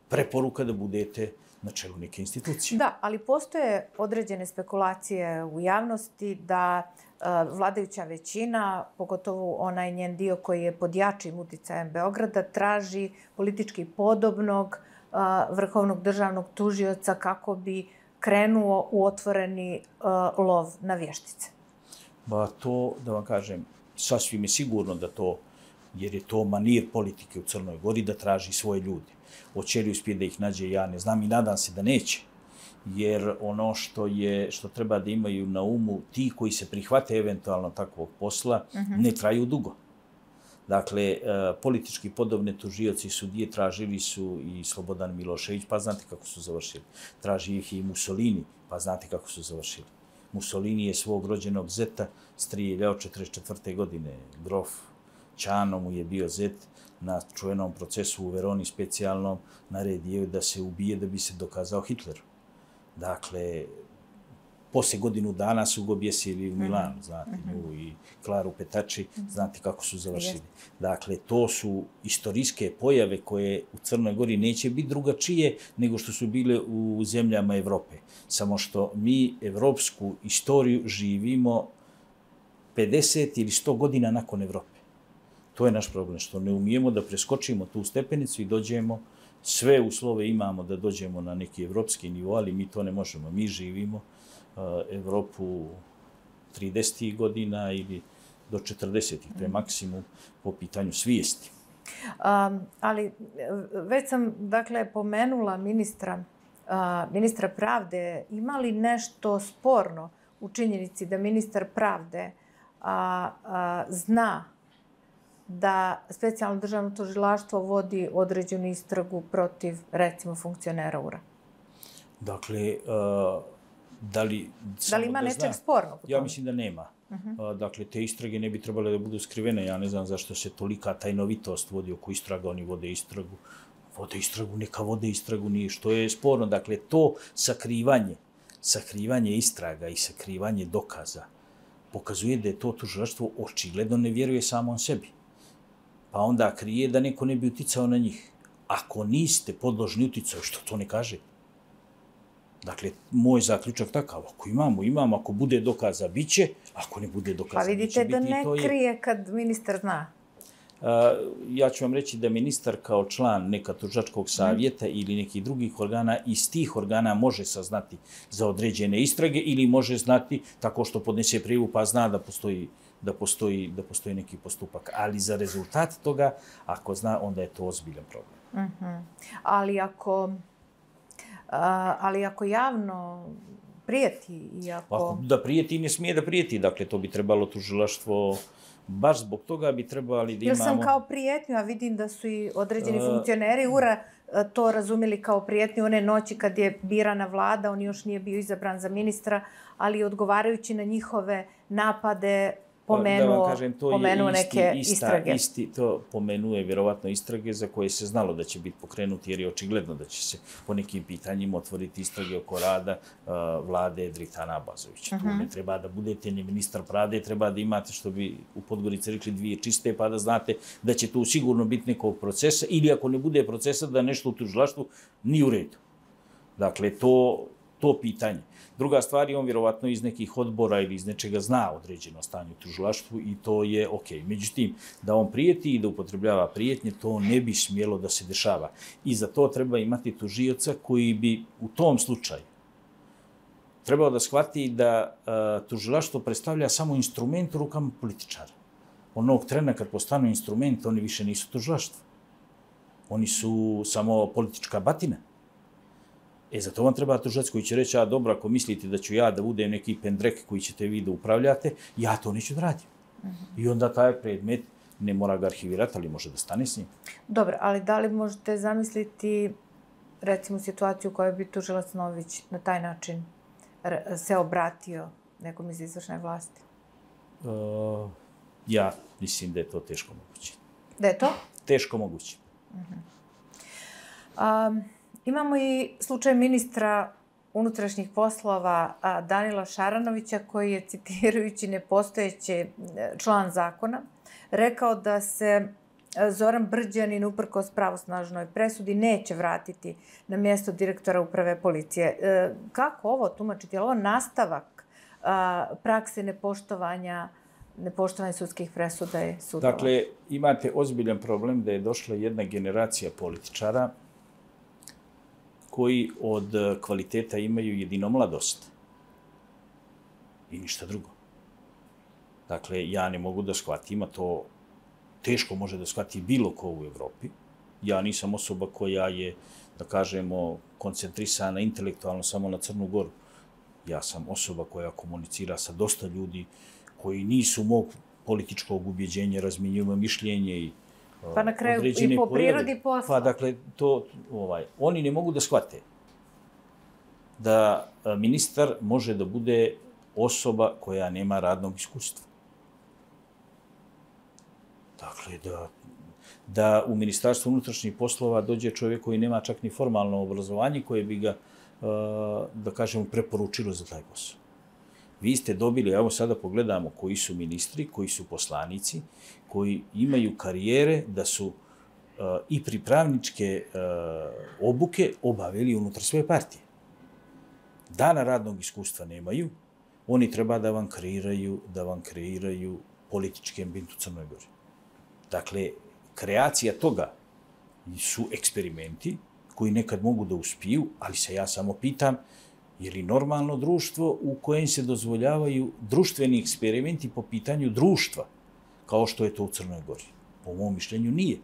preporuka da budete na čelu neke institucije. Da, ali postoje određene spekulacije u javnosti da vladajuća većina, pogotovo onaj njen dio koji je pod jačim uticajem Beograda, traži politički podobnog vrhovnog državnog tužioca kako bi krenuo u otvoreni lov na vještice. Ba to, da vam kažem, sasvim je sigurno da to, jer je to manir politike u Crnoj Gori, da traži svoje ljude. Hoće li uspjeti da ih nađe, ja ne znam i nadam se da neće. Jer ono što treba da imaju na umu ti koji se prihvate eventualno takvog posla, ne traju dugo. Dakle, politički podobne tužioci sudije tražili su i Slobodan Milošević, pa znate kako su završili. Traži ih i Mussolini, pa znate kako su završili. Mussolini je svog rođenog zeta strijeljao 1944. godine. Grof Ćano mu je bio zet na čuvenom procesu u Veroni specijalnom, naredio da se ubije da bi se dokazao Hitleru. Dakle, poslije godinu dana su ga objesili u Milanu, znate, nju i Klaru Petači, znate kako su završili. Dakle, to su istorijske pojave koje u Crnoj Gori neće biti drugačije nego što su bile u zemljama Evrope. Samo što mi evropsku istoriju živimo 50 ili 100 godina nakon Evrope. To je naš problem, što ne umijemo da preskočimo tu stepenicu i dođemo, sve uslove imamo da dođemo na neki evropski nivo, ali mi to ne možemo. Mi živimo Evropu 30. godina ili do 40. To je maksimum po pitanju svijesti. Ali već sam, dakle, pomenula ministra pravde. Ima li nešto sporno u činjenici da ministar pravde zna da specijalno državno tužilaštvo vodi određenu istragu protiv, recimo, funkcionera URA? Dakle, da li ima nečeg spornog? Ja mislim da nema. Dakle, te istrage ne bi trebale da budu skrivene. Ja ne znam zašto se tolika tajnovitost vodi oko istraga. Oni vode istragu. Neka vode istragu, nije što je sporno. Dakle, to sakrivanje istraga i sakrivanje dokaza pokazuje da je to tužilaštvo očigledno ne vjeruje samom sebi. Pa onda krije da neko ne bi uticao na njih. Ako niste podložni uticaju, što to ne kaže? Dakle, moj zaključak takav, ako imamo, ako bude dokaza, bit će, ako ne bude dokaza, pa vidite da ne krije kad ministar zna. Ja ću vam reći da ministar kao član neka tužilačkog savjeta ili nekih drugih organa iz tih organa može saznati za određene istrage ili može znati tako što podnese prijavu pa zna da postoji neki postupak. Ali za rezultat toga, ako zna, onda je to ozbiljan problem. Ali ako javno prijeti i ako... Da prijeti, ne smije da prijeti. Dakle, to bi trebalo tužilaštvo, baš zbog toga bi trebali da imamo... Jer sam kao prijetnju, a vidim da su i određeni funkcioneri URA to razumjeli kao prijetnju one noći kad je birana vlada, on još nije bio izabran za ministra, ali odgovarajući na njihove napade pomenuo neke istrage. To pomenuje vjerovatno istrage za koje se znalo da će biti pokrenuti, jer je očigledno da će se po nekim pitanjima otvoriti istrage oko rada vlade Dritana Abazovića. Tu ne treba da budete ni ministar pravde, treba da imate, što bi u Podgorici rekli, dvije čiste, pa da znate da će tu sigurno biti nekog procesa, ili ako ne bude procesa, da nešto u tužilaštvu nije u redu. Dakle, to pitanje. Druga stvar je, on vjerovatno iz nekih odbora ili iz nečega zna određeno stanje u tužilaštvu i to je okej. Međutim, da on prijeti i da upotrebljava prijetnje, to ne bi smjelo da se dešava. I za to treba imati tužioca koji bi u tom slučaju trebao da shvati da tužilaštvo predstavlja samo instrument u rukama političara. Onog trena kad postanu instrument, oni više nisu tužilaštvo. Oni su samo politička batina. Za to vam treba tužilac koji će reći, dobro, ako mislite da ću ja da budem neki pendrek koji ćete vi da upravljate, ja to neću da radim. I onda taj predmet ne mora ga arhivirati, ali može da stane s njim. Dobro, ali da li možete zamisliti, recimo, situaciju u kojoj bi tužilac Nović na taj način se obratio nekom iz izvršne vlasti? Ja mislim da je to teško moguće. Da je to? Teško moguće. Imamo i slučaj ministra unutrašnjih poslova Danila Šaranovića, koji je, citirajući nepostojeći član zakona, rekao da se Zoran Brđanin, uprkos pravosnažnoj presudi, neće vratiti na mjesto direktora uprave policije. Kako ovo tumačiti? Je li ovo nastavak prakse nepoštovanja sudskih presuda i sudova? Dakle, imate ozbiljan problem da je došla jedna generacija političara koji od kvaliteta imaju jedino mladost i ništa drugo. Dakle, ja ne mogu da shvatim, a to teško može da shvati bilo ko u Evropi. Ja nisam osoba koja je, da kažemo, koncentrisana intelektualno samo na Crnu Goru. Ja sam osoba koja komunicira sa dosta ljudi koji nisu mog političkog ubjeđenja, razmjenjujemo mišljenje i pa na kraju i po prirodi posla. Pa dakle, oni ne mogu da shvate da ministar može da bude osoba koja nema radnog iskustva. Dakle, da u Ministarstvu unutrašnjih poslova dođe čovjek koji nema čak ni formalno obrazovanje koje bi ga, da kažemo, preporučilo za taj posao. Vi ste dobili, evo sada pogledamo koji su ministri, koji su poslanici, koji imaju karijere da su i pripravničke obuke obavili unutar svoje partije. Dana radnog iskustva nemaju, oni treba da vam kreiraju politički ambijent u Crnoj Gori. Dakle, kreacija toga su eksperimenti koji nekad mogu da uspiju, ali se ja samo pitam je li normalno društvo u kojem se dozvoljavaju društveni eksperimenti po pitanju društva, kao što je to u Crnoj Gori? Po mom mišljenju nije.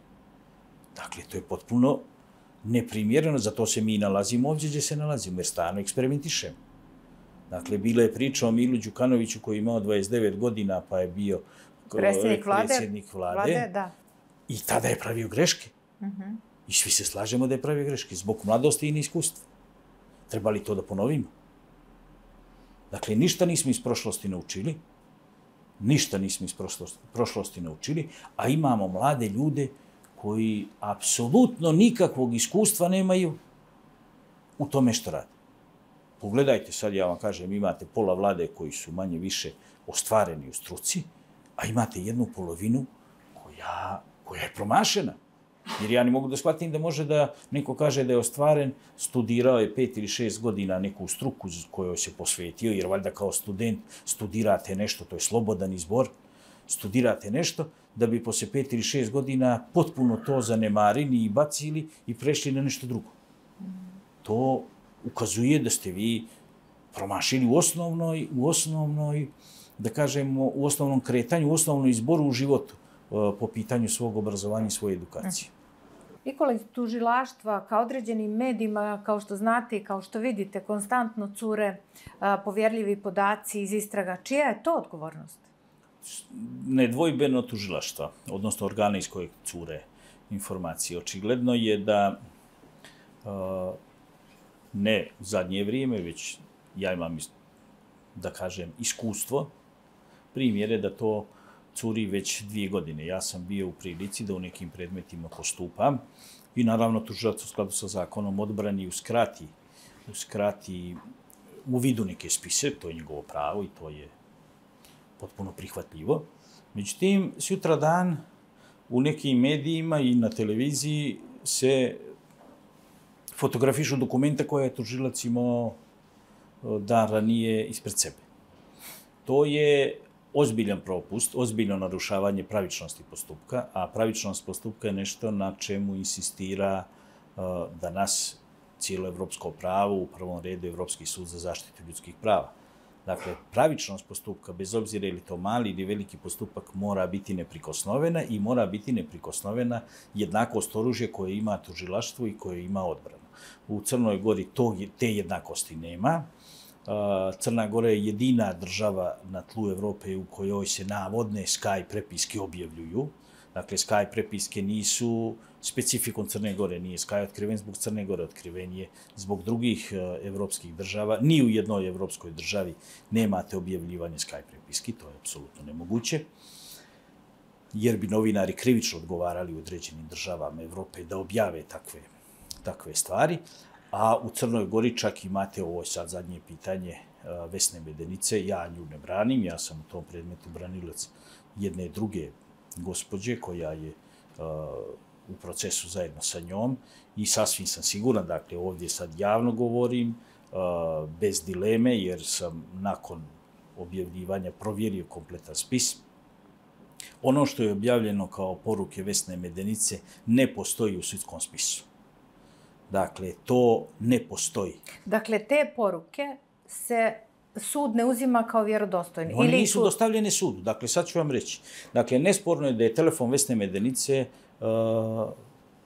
Dakle, to je potpuno neprimjereno, zato se mi nalazimo ovdje gdje se nalazimo, jer stalno eksperimentišemo. Dakle, bila je priča o Milu Đukanoviću koji je imao 29 godina, pa je bio predsjednik vlade da. I tada je pravio greške. I svi se slažemo da je pravio greške, zbog mladosti i neiskustva. Treba li to da ponovimo? Dakle, ništa nismo iz prošlosti naučili, a imamo mlade ljude koji apsolutno nikakvog iskustva nemaju u tome što rade. Pogledajte, sad ja vam kažem, imate pola vlade koji su manje više ostvareni u struci, a imate jednu polovinu koja je promašena. Jer ja ne mogu da shvatim da može da neko kaže da je ostvaren, studirao je 5 ili 6 godina neku struku kojoj se posvetio, jer valjda kao student studirate nešto, to je slobodan izbor, studirate nešto, da bi posle 5 ili 6 godina potpuno to zanemarili i bacili i prešli na nešto drugo. To ukazuje da ste vi promašili u osnovnoj, da kažemo, u osnovnom kretanju, u osnovnom izboru u životu po pitanju svog obrazovanja i svoje edukacije. Nikola, iz tužilaštva ka određenim medijima, kao što znate i kao što vidite, konstantno cure povjerljivi podaci iz istraga. Čija je to odgovornost? Nedvojbeno tužilaštva, odnosno organe iz kojeg cure informacije. Očigledno je da ne zadnje vrijeme, već ja imam, da kažem, iskustvo, primjere da to curi već 2 godine. Ja sam bio u prilici da u nekim predmetima postupam i naravno tužilac u skladu sa zakonom odbrani uskrati u vidu neke spise, to je njegovo pravo i to je potpuno prihvatljivo. Međutim, sutradan u nekim medijima i na televiziji se fotografišu dokumenta koje je tužilac imao dan ranije ispred sebe. To je ozbiljan propust, ozbiljno narušavanje pravičnosti postupka, a pravičnost postupka je nešto na čemu insistira danas cijelo evropsko pravo, u prvom redu Evropski sud za zaštitu ljudskih prava. Dakle, pravičnost postupka, bez obzira je li to mali ili veliki postupak, mora biti neprikosnovena i mora biti neprikosnovena jednakost oružja koje ima tužilaštvo i koje ima odbranu. U Crnoj Gori te jednakosti nema. Crna Gora je jedina država na tlu Evrope u kojoj se navodne Sky prepiske objavljuju. Dakle, Sky prepiske nisu specifikom Crne Gore, nije Sky otkriven zbog Crne Gore, otkriven je zbog drugih evropskih država. Ni u jednoj evropskoj državi nemate objavljivanje Sky prepiski, to je apsolutno nemoguće, jer bi novinari krivično odgovarali u određenim državama Evrope da objave takve stvari. A u Crnoj Gori čak imate, ovo sad zadnje pitanje, Vesne Medenice, ja nju ne branim, ja sam u tom predmetu branilac jedne druge gospođe koja je u procesu zajedno sa njom i sasvim sam siguran, dakle ovdje sad javno govorim, bez dileme, jer sam nakon objavljivanja provjerio kompletan spis. Ono što je objavljeno kao poruke Vesne Medenice ne postoji u sudskom spisu. Dakle, to ne postoji. Dakle, te poruke se sud ne uzima kao vjerodostojni? Oni nisu dostavljene sudu. Dakle, sad ću vam reći. Dakle, nesporno je da je telefon Vesne Medenice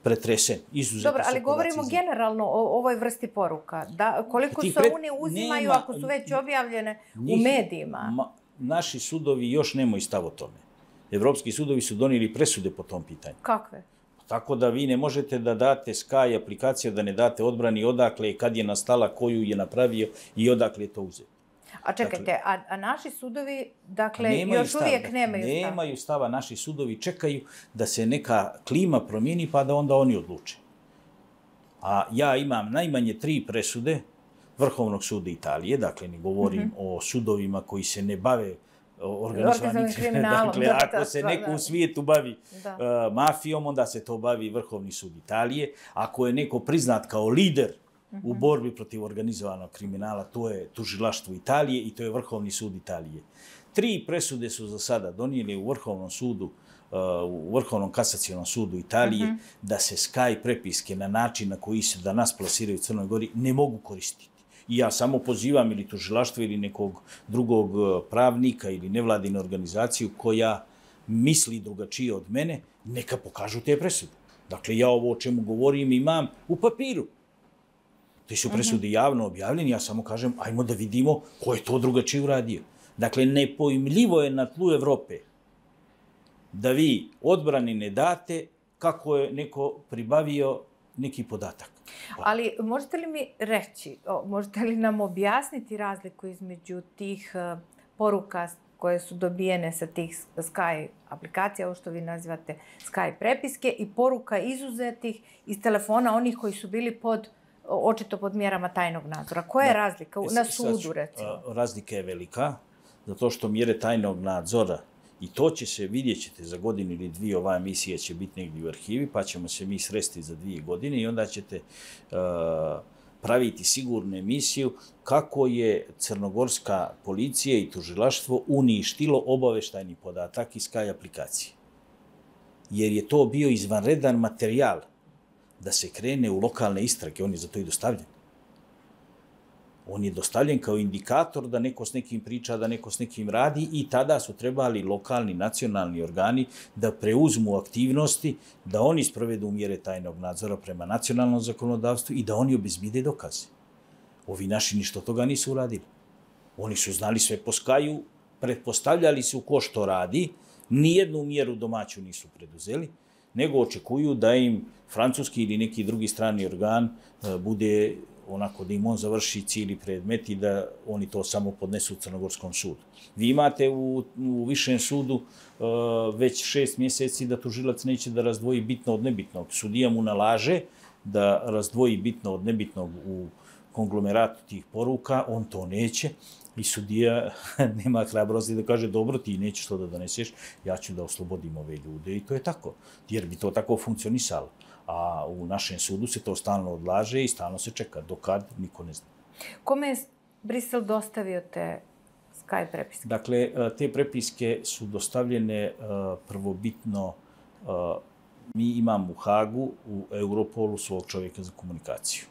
pretresen. Dobro, ali govorimo generalno o ovoj vrsti poruka. Koliko se oni uzimaju ako su već objavljene u medijima? Naši sudovi još nemaju stav o tome. Evropski sudovi su donijeli presude po tom pitanju. Kakve? Tako da vi ne možete da date Sky aplikaciju, da ne date odbrani odakle, kad je nastala, koju je napravio i odakle je to uzeti. A čekajte, a naši sudovi, dakle, još uvijek nemaju stava? Nemaju stava, naši sudovi čekaju da se neka klima promijeni pa da onda oni odluče. A ja imam najmanje 3 presude Vrhovnog suda Italije, dakle ne govorim o sudovima koji se ne bave organizovanim kriminalom. Dakle, ako se neko u svijetu bavi mafijom, onda se to bavi Vrhovni sud Italije. Ako je neko priznat kao lider u borbi protiv organizovanog kriminala, to je tužilaštvo Italije i to je Vrhovni sud Italije. 3 presude su za sada donijeli u Vrhovnom sudu, u Vrhovnom kasacionom sudu Italije, da se Sky prepiske na način na koji se danas plasiraju u Crnoj Gori ne mogu koristiti. I ja samo pozivam ili tužilaštvo ili nekog drugog pravnika ili nevladinu organizaciju koja misli drugačije od mene, neka pokažu te presude. Dakle, ja ovo o čemu govorim imam u papiru. Te su presude javno objavljene, ja samo kažem, ajmo da vidimo ko je to drugačije uradio. Dakle, nepojmljivo je na tlu Evrope da vi odbrani ne date kako je neko pribavio neki podatak. Ali možete li mi reći, možete li nam objasniti razliku između tih poruka koje su dobijene sa tih Sky aplikacija, ovo što vi nazivate Sky prepiske, i poruka izuzetih iz telefona onih koji su bili očito pod mjerama tajnog nadzora? Koja je razlika na sudu, recimo? Razlika je velika, zato što mjere tajnog nadzora, i to će se, vidjet ćete za godinu ili 2, ova emisija će biti negdje u arhivi, pa ćemo se mi sresti za 2 godine i onda ćete praviti sigurnu emisiju kako je crnogorska policija i tužilaštvo uništilo obaveštajni podatak iz Sky aplikacije. Jer je to bio izvanredan materijal da se krene u lokalne istrage, on je za to i dostavljen. On je dostavljen kao indikator da neko s nekim priča, da neko s nekim radi i tada su trebali lokalni, nacionalni organi da preuzmu aktivnosti, da oni sprovedu mjere tajnog nadzora prema nacionalnom zakonodavstvu i da oni obezbide dokaze. Ovi naši ništa toga nisu uradili. Oni su znali sve po Skyu, pretpostavljali su ko što radi, nijednu mjeru domaću nisu preduzeli, nego očekuju da im francuski ili neki drugi strani organ bude onako da im on završi cijeli predmet i da oni to samo podnesu u Crnogorskom sudu. Vi imate u višem sudu već 6 mjeseci da tužilac neće da razdvoji bitno od nebitnog. Sudija mu nalaže da razdvoji bitno od nebitnog u konglomeratu tih poruka, on to neće i sudija nema hrabrosti da kaže dobro, ti nećeš to da doneseš, ja ću da oslobodim ove ljude i to je tako, jer bi to tako funkcionisalo. A u našem sudu se to stalno odlaže i stalno se čeka. Dokad, niko ne zna. Kome je Brisel dostavio te Sky prepiske? Dakle, te prepiske su dostavljene prvobitno. Mi imamo u Hagu, u Europolu, svog čovjeka za komunikaciju,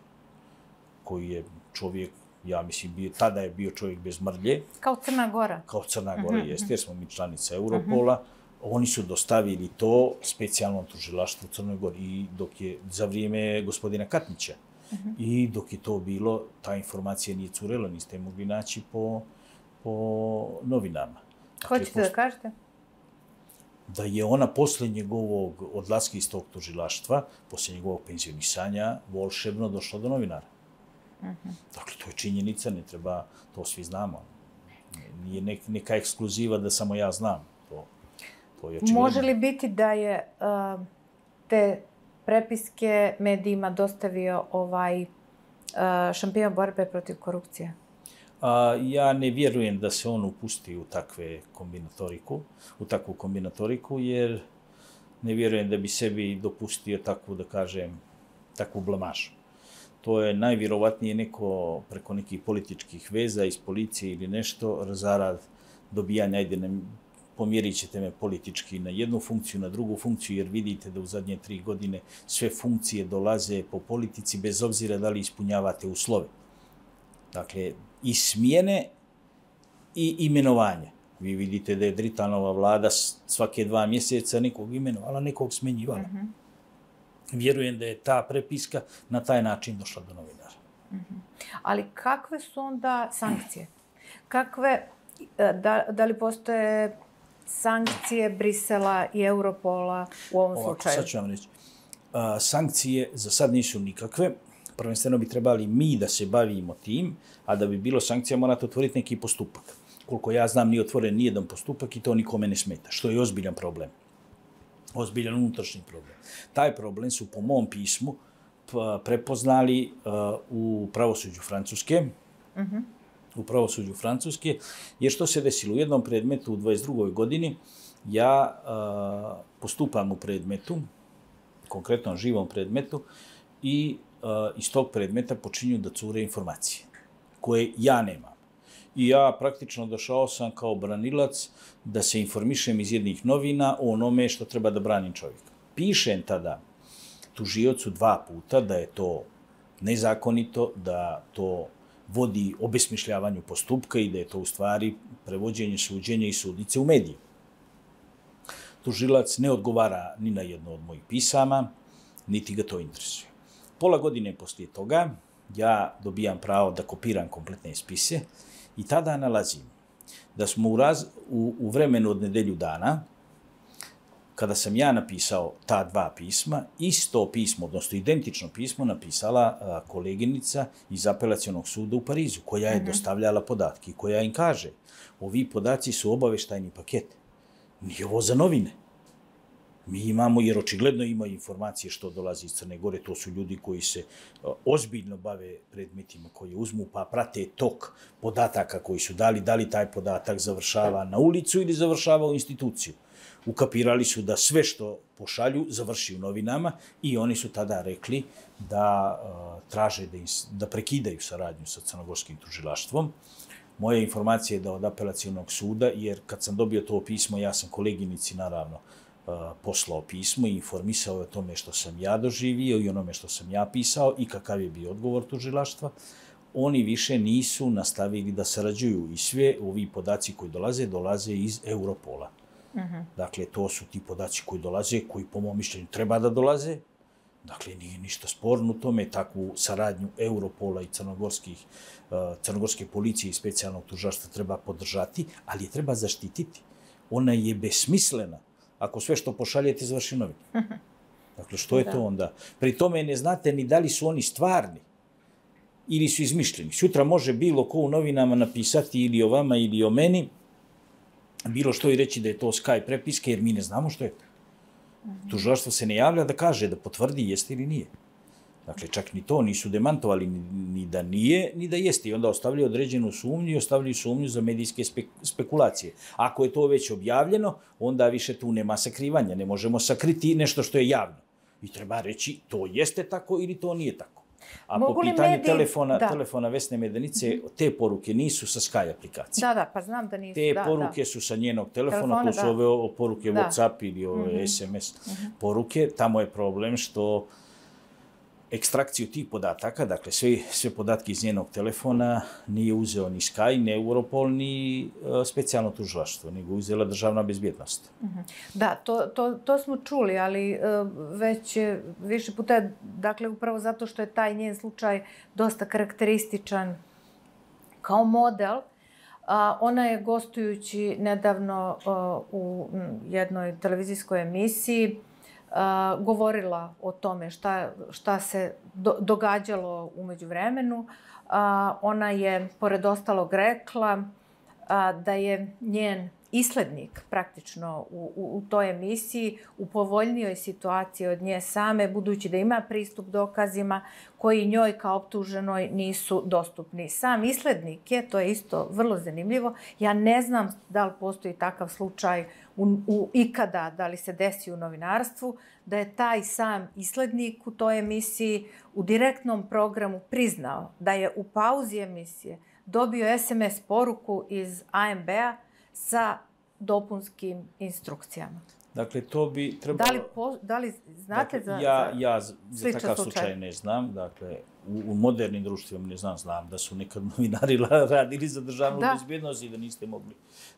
koji je čovjek, ja mislim, tada je bio čovjek bez mrlje. Kao Crna Gora? Kao Crna Gora, jeste, jer smo mi članica Europola. Oni su dostavili to specijalnom tužilaštvu u Crnoj Gori i dok je za vrijeme gospodina Katnića i dok je to bilo, ta informacija nije curela, niste mogli naći po novinama. Hoćete da kažete? da je ona posle njegovog odlaska iz tog tužilaštva, posle njegovog penzionisanja, volšebno došla do novinara. Dakle, to je činjenica, ne treba, to svi znamo. Nije neka ekskluziva da samo ja znam. To je očigledno. Može li biti da je te prepiske medijima dostavio šampion borbe protiv korupcije? Ja ne vjerujem da se on upusti u takvu kombinatoriku, jer ne vjerujem da bi sebi dopustio takvu, da kažem, takvu blamažu. To je najvjerovatnije neko preko nekih političkih veza iz policije ili nešto, zarad dobijanja, pomjerit ćete me politički na jednu funkciju, na drugu funkciju, jer vidite da u zadnje 3 godine sve funkcije dolaze po politici, bez obzira da li ispunjavate uslove. Dakle, i smjene i imenovanje. Vi vidite da je Dritanova vlada svake 2 mjeseca nekog imenovala, nekog smjenjivala. Vjerujem da je ta prepiska na taj način došla do novinara. Ali kakve su onda sankcije? Da li postoje sankcije Brisela i Europola u ovom slučaju? Sad ću vam reći. Sankcije za sad nisu nikakve. Prvenstveno bi trebali mi da se bavimo tim, a da bi bilo sankcija morate otvoriti neki postupak. Koliko ja znam, nije otvoren nijedan postupak i to nikome ne smeta, što je ozbiljan problem. Ozbiljan unutrašnji problem. Taj problem su po mom pismu prepoznali u pravosuđu Francuske. U pravosuđu Francuske. Jer što se desilo? U jednom predmetu u 22. godini ja postupam u predmetu, konkretno živom predmetu, i iz tog predmeta počinju da cure informacije koje ja nemam. I ja praktično došao sam kao branilac da se informišem iz jednih novina o onome što treba da branim čovjeka. Pišem tada tužiocu 2 puta da je to nezakonito, da to vodi obesmišljavanju postupka i da je to u stvari prevođenje suđenja i sudnice u medije. Tužilac ne odgovara ni na jedno od mojih pisama, niti ga to interesuje. Pola godine poslije toga ja dobijam pravo da kopiram kompletne spise i tada nalazim da smo u vremenu od nedelju dana, kada sam ja napisao ta 2 pisma, isto pismo, odnosno identično pismo, napisala koleginica iz apelacionog suda u Parizu, koja je dostavljala podatke i koja im kaže, ovi podaci su obaveštajni paket. Nije ovo za novine. Mi imamo, jer očigledno imaju informacije što dolazi iz Crne Gore, to su ljudi koji se ozbiljno bave predmetima koje uzmu, pa prate tok podataka koji su dali, da li taj podatak završava na ulicu ili završava u instituciju. Ukapirali su da sve što pošalju završi u novinama i oni su tada rekli da traže da prekidaju saradnju sa crnogorskim tužilaštvom. Moja informacija je da od apelacionog suda, jer kad sam dobio to pismo, ja sam koleginici naravno poslao pismo i informisao o tome što sam ja doživio i onome što sam ja pisao i kakav je bio odgovor tužilaštva. Oni više nisu nastavili da sarađuju i sve ovi podaci koji dolaze iz Europola. Dakle, to su ti podaci koji dolaze, koji po mom mišljenju treba da dolaze. Dakle, nije ništa sporno u tome, takvu saradnju Europola i crnogorske policije i specijalnog tužilaštva treba podržati, ali je treba zaštititi. Ona je besmislena ako sve što pošaljete završi novine. Dakle, što je to onda? Pri tome ne znate ni da li su oni stvarni ili su izmišljeni. Sutra može bilo ko u novinama napisati ili o vama ili o meni, bilo što i reći da je to Skype prepiske, jer mi ne znamo što je to. Tužilaštvo se ne javlja da kaže, da potvrdi jeste ili nije. Dakle, čak ni to nisu demantovali, ni da nije, ni da jeste. I onda ostavljaju određenu sumnju i ostavljaju sumnju za medijske spekulacije. Ako je to već objavljeno, onda više tu nema sakrivanja. Ne možemo sakriti nešto što je javno. I treba reći to jeste tako ili to nije tako. A po pitanju telefona Vesne Medenice, te poruke nisu sa Sky aplikacije. Da, pa znam da nisu. Te poruke su sa njenog telefona, tu su ove poruke WhatsApp ili SMS poruke. Tamo je problem što ekstrakciju tih podataka, dakle sve podatke iz njenog telefona nije uzeo ni Sky, ni Europol, ni specijalno tužilaštvo, nego uzela državna bezbjednost. Da, to smo čuli, ali već više puta, dakle upravo zato što je taj njen slučaj dosta karakterističan kao model, Ona je gostujući nedavno u jednoj televizijskoj emisiji govorila o tome šta se događalo u međuvremenu. Ona je, pored ostalog, rekla da je njen islednik praktično u toj emisiji u povoljnijoj situaciji od nje same, budući da ima pristup dokazima koji njoj kao optuženoj nisu dostupni. Sam islednik je, to je isto vrlo zanimljivo, ja ne znam da li postoji takav slučaj ikada, da li se desi u novinarstvu, da je taj sam islednik u toj emisiji u direktnom programu priznao da je u pauzi emisije dobio SMS poruku iz AMB-a sa dopunskim instrukcijama. Dakle, to bi trebalo... Da li znate Ja za takav slučaj ne znam. Dakle, u modernim društvima ne znam da su nekad novinari radili za državnu bezbjednost i da niste mogli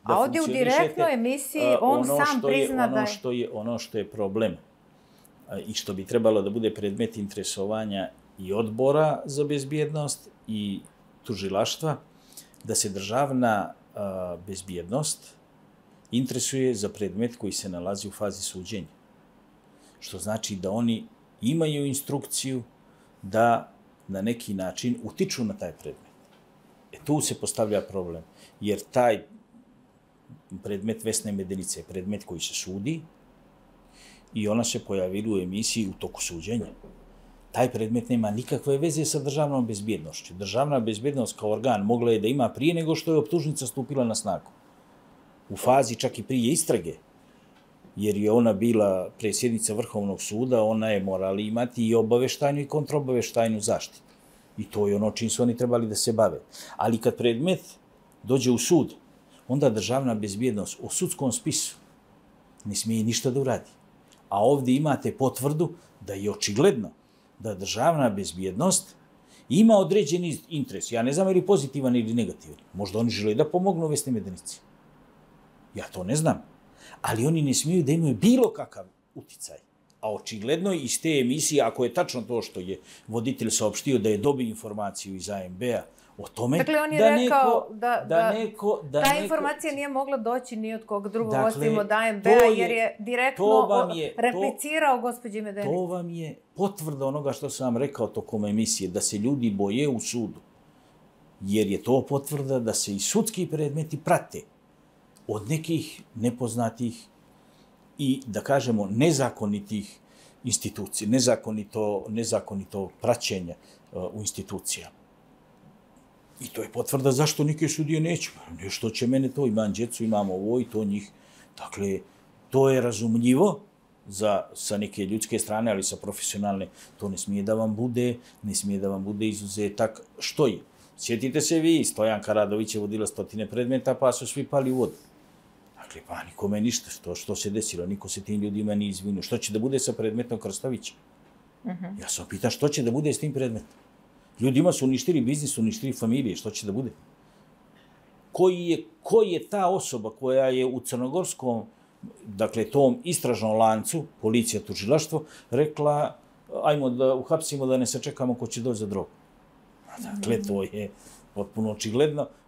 da funkcionišete. A ovdje u direktnoj emisiji on sam prizna da je... Ono što je problem i što bi trebalo da bude predmet interesovanja i odbora za bezbjednost i tužilaštva, da se državna bezbjednost interesuje za predmet koji se nalazi u fazi suđenja. Što znači da oni imaju instrukciju da na neki način utiču na taj predmet. Tu se postavlja problem, jer taj predmet Vesne Medenice je predmet koji se sudi i ona se pojavila u emisiji u toku suđenja. Taj predmet nema nikakve veze sa državnom bezbjednošću. Državna bezbjednost kao organ mogla je da ima prije nego što je optužnica stupila na snagu. U fazi čak i prije istrage, jer je ona bila predsjednica Vrhovnog suda, ona je morala imati i obaveštajnu i kontraobaveštajnu zaštitu. I to je ono čim su oni trebali da se bave. Ali kad predmet dođe u sud, onda državna bezbjednost o sudskom spisu ne smije ništa da uradi. A ovdje imate potvrdu da je očigledno da državna bezbjednost ima određeni interes. Ja ne znam je li pozitivan ili negativan. Možda oni žele da pomognu Vesni Medenici. Ja to ne znam. Ali oni ne smiju da imaju bilo kakav uticaj. A očigledno iz te emisije, ako je tačno to što je voditelj saopštio da je dobio informaciju iz AMB-a o tome... Dakle, on je rekao da ta informacija nije mogla doći ni od kog drugog osim od AMB-a, jer je direktno replicirao gospođi Medenici. To vam je potvrda onoga što sam vam rekao tokom emisije, da se ljudi boje u sudu. Jer je to potvrda da se i sudski predmeti prate od nekih nepoznatih i, da kažemo, nezakonitih institucija, nezakonito praćenje u institucijama. I to je potvrda zašto neke sudije neće. Što će mene to, imam djecu, imam ovo i to njih. Dakle, to je razumljivo sa neke ljudske strane, ali sa profesionalne, to ne smije da vam bude izuzetak. Što je? Sjetite se vi, Stojanka Radović je vodila 100 predmeta, pa su svi pali u vodu. Dakle, pa nikome ništa. Što se desilo? Niko se tim ljudima nije izvinio. Što će da bude sa predmetom Krstovića? Ja sam pitan što će da bude s tim predmetom? Ljudima su uništili biznis, uništili familije. Što će da bude? Ko je ta osoba koja je u crnogorskom, dakle, tom istražnom lancu, policija, tužilaštvo, rekla, ajmo da uhapsimo, da ne sačekamo ko će doći za drogu? Dakle, to je potpuno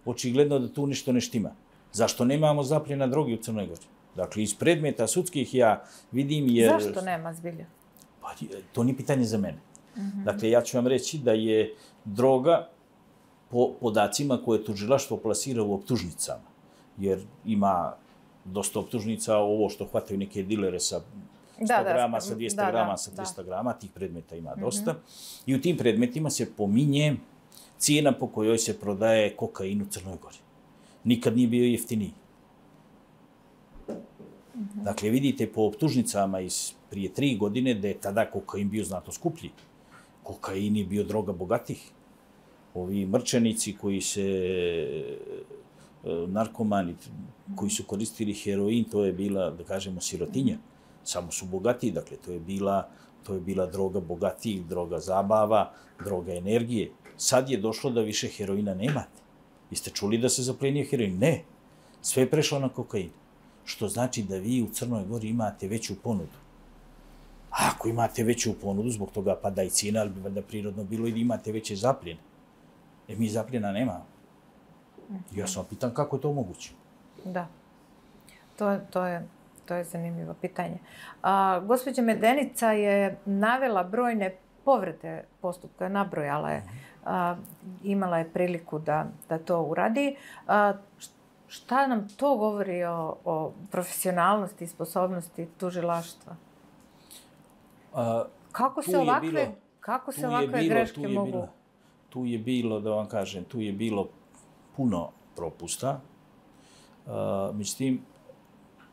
očigledno da tu nešto ne štima. Zašto nemamo zapljena droge u Crnoj Gori? Dakle, iz predmeta sudskih ja vidim jer... Zašto nema zbilja? Pa, to nije pitanje za mene. Dakle, ja ću vam reći da je droga po podacima koje tužilaštvo plasira u optužnicama, jer ima dosta optužnica, ovo što hvataju neke dilere sa 100 grama, sa 200 grama, sa 300 grama, tih predmeta ima dosta. I u tim predmetima se pominje cijena po kojoj se prodaje kokain u Crnoj Gori. Nikad nije bio jeftiniji. Dakle, vidite po optužnicama iz prije 3 godine da je tada kokain bio znatno skuplji. Kokain je bio droga bogatih. Ovi mrčanici koji se, narkomani koji su koristili heroin, to je bila, da kažemo, sirotinja. Samo su bogatiji, dakle, to je bila droga bogatih, droga zabava, droga energije. Sad je došlo da više heroina nemate. Jeste čuli da se zaplenio heroin? Ne. Sve je prešlo na kokain. Što znači da vi u Crnoj Gori imate veću ponudu. A ako imate veću ponudu, zbog toga pada i cijena, ali bi valjda prirodno bilo i da imate veće zapljene. Mi zapljena nemamo. Ja sam pitan kako je to moguće. Da, to je zanimljivo pitanje. Gospođa Medenica je navela brojne povrede postupka, nabrojala je, imala je priliku da to uradi. Šta nam to govori o profesionalnosti i sposobnosti tužilaštva? Kako se ovakve greške mogu? Tu je bilo, da vam kažem, tu je bilo puno propusta. Međutim,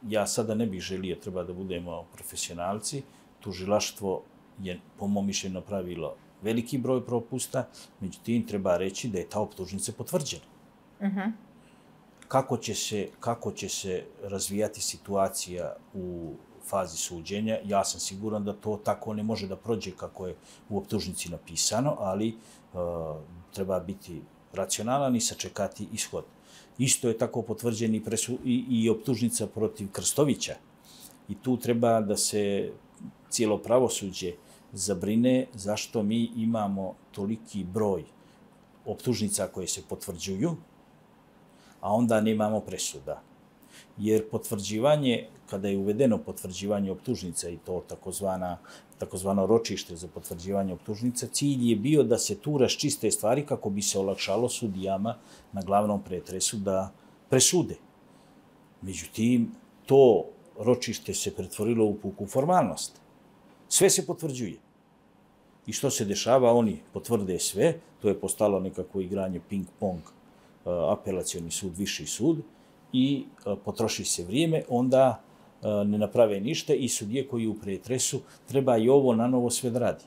ja sada ne bih želio, treba da budemo profesionalci. Tužilaštvo je, po mom mišljenju, napravilo veliki broj propusta, međutim, treba reći da je ta optužnica potvrđena. Kako će se razvijati situacija u fazi suđenja, ja sam siguran da to tako ne može da prođe kako je u optužnici napisano, ali treba biti racionalan i sačekati ishod. Isto je tako potvrđen i optužnica protiv Krstovića. I tu treba da se cijelo pravosuđe zabrine zašto mi imamo toliki broj optužnica koje se potvrđuju, a onda nemamo presuda. Jer potvrđivanje, kada je uvedeno potvrđivanje optužnica i to takozvano ročište za potvrđivanje optužnica, cilj je bio da se tu raščiste stvari kako bi se olakšalo sudijama na glavnom pretresu da presude. Međutim, to ročište se pretvorilo u puku formalnost. Sve se potvrđuje. I što se dešava? Oni potvrde sve, to je postalo nekako igranje ping-pong, apelacioni sud, viši sud, i potroši se vrijeme, onda ne naprave ništa i sudije koji u pretresu treba i ovo na novo sve da radi.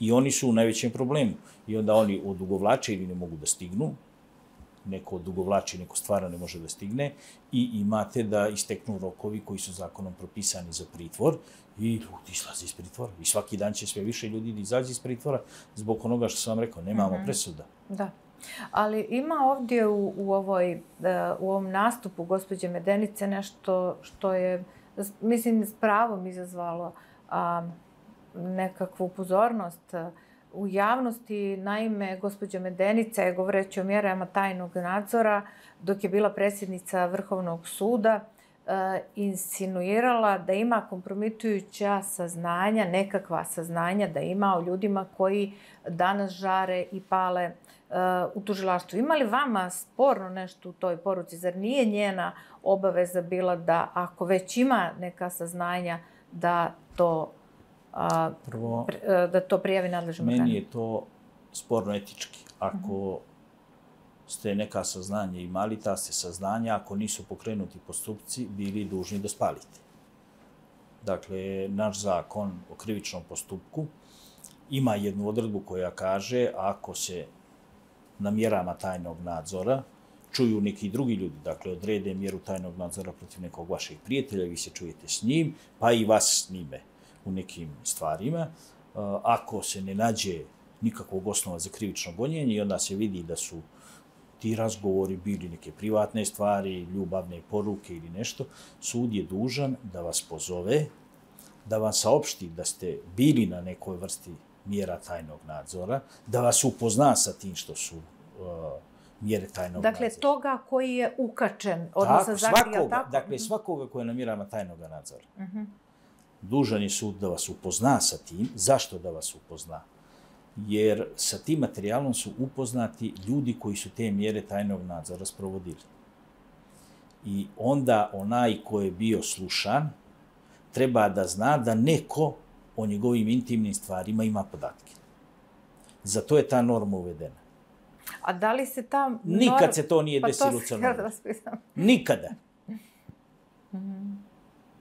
I oni su u najvećem problemu. I onda oni odugovlače ili ne mogu da stignu, neko odugovlači, neko stvarno ne može da stigne i imate da isteknu rokovi koji su zakonom propisani za pritvor i ljudi izlaze iz pritvora. I svaki dan će sve više ljudi da izađe iz pritvora zbog onoga što sam vam rekao, nemamo presuda. Da. Ali ima ovdje u ovom nastupu gospođe Medenice nešto što je, mislim, s pravom izazvalo nekakvu pozornost u javnosti. Naime, gospođa Medenica je, govoreći o mjerama tajnog nadzora, dok je bila predsjednica Vrhovnog suda, insinuirala da ima kompromitujuća saznanja, nekakva saznanja da ima o ljudima koji danas žare i pale u tužilaštvu. Ima li vama sporno nešto u toj poruci? Zar nije njena obaveza bila da, ako već ima neka saznanja, da to prijavi nadležnom organu? Meni je to sporno etički. Ako ste neka saznanja imali, ta ste saznanja, ako nisu pokrenuti postupci, bili dužni da spalite. Dakle, naš zakon o krivičnom postupku ima jednu odredbu koja kaže ako se na mjerama tajnog nadzora čuju neki drugi ljudi, dakle odrede mjeru tajnog nadzora protiv nekog vašeg prijatelja, vi se čujete s njim, pa i vas s njime u nekim stvarima. Ako se ne nađe nikakvog osnova za krivično gonjenje i onda se vidi da su ti razgovori bili neke privatne stvari, ljubavne poruke ili nešto, sud je dužan da vas pozove, da vam saopšti da ste bili na nekoj vrsti mjera tajnog nadzora, da vas upozna sa tim što su mjere tajnog nadzora. Dakle, toga koji je ukačen, odnosno zagrija tako? Dakle, svakoga koji je na mjerama tajnog nadzora. Dužan je sud da vas upozna sa tim. Zašto da vas upozna? Jer sa tim materijalom su upoznati ljudi koji su te mjere tajnog nadzora sprovodili. I onda onaj ko je bio slušan treba da zna da neko o njegovim intimnim stvarima ima podatke. Zato je ta norma uvedena. A da li se ta norma... Nikad se to nije desilo u Crnoj Gori. Nikada.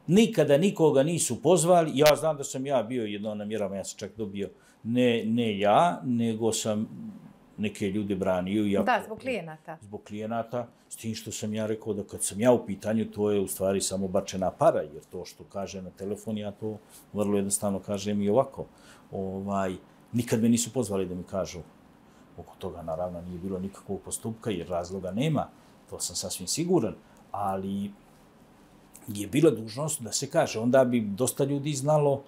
Nikada nikoga nisu pozvali. Ja znam da sam ja bio jedno na mjerama, ja sam čak dobio, ne ja, nego sam neke ljude branio. Da, zbog klijenata. Zbog klijenata, s tim što sam ja rekao da kad sam ja u pitanju, to je u stvari samo bačena para, jer to što kaže na telefon, ja to vrlo jednostavno kažem i ovako. Nikad me nisu pozvali da mi kažu. Oko toga, naravno, nije bilo nikakvog postupka, jer razloga nema. To sam sasvim siguran. Ali je bila dužnost da se kaže. Onda bi dosta ljudi znalo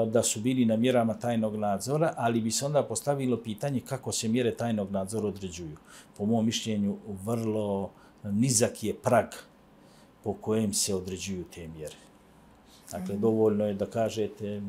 da su bili na mjerama tajnog nadzora, ali bi se onda postavilo pitanje kako se mjere tajnog nadzora određuju. Po mom mišljenju, vrlo nizak je prag po kojem se određuju te mjere. Dakle, dovoljno je da kažete,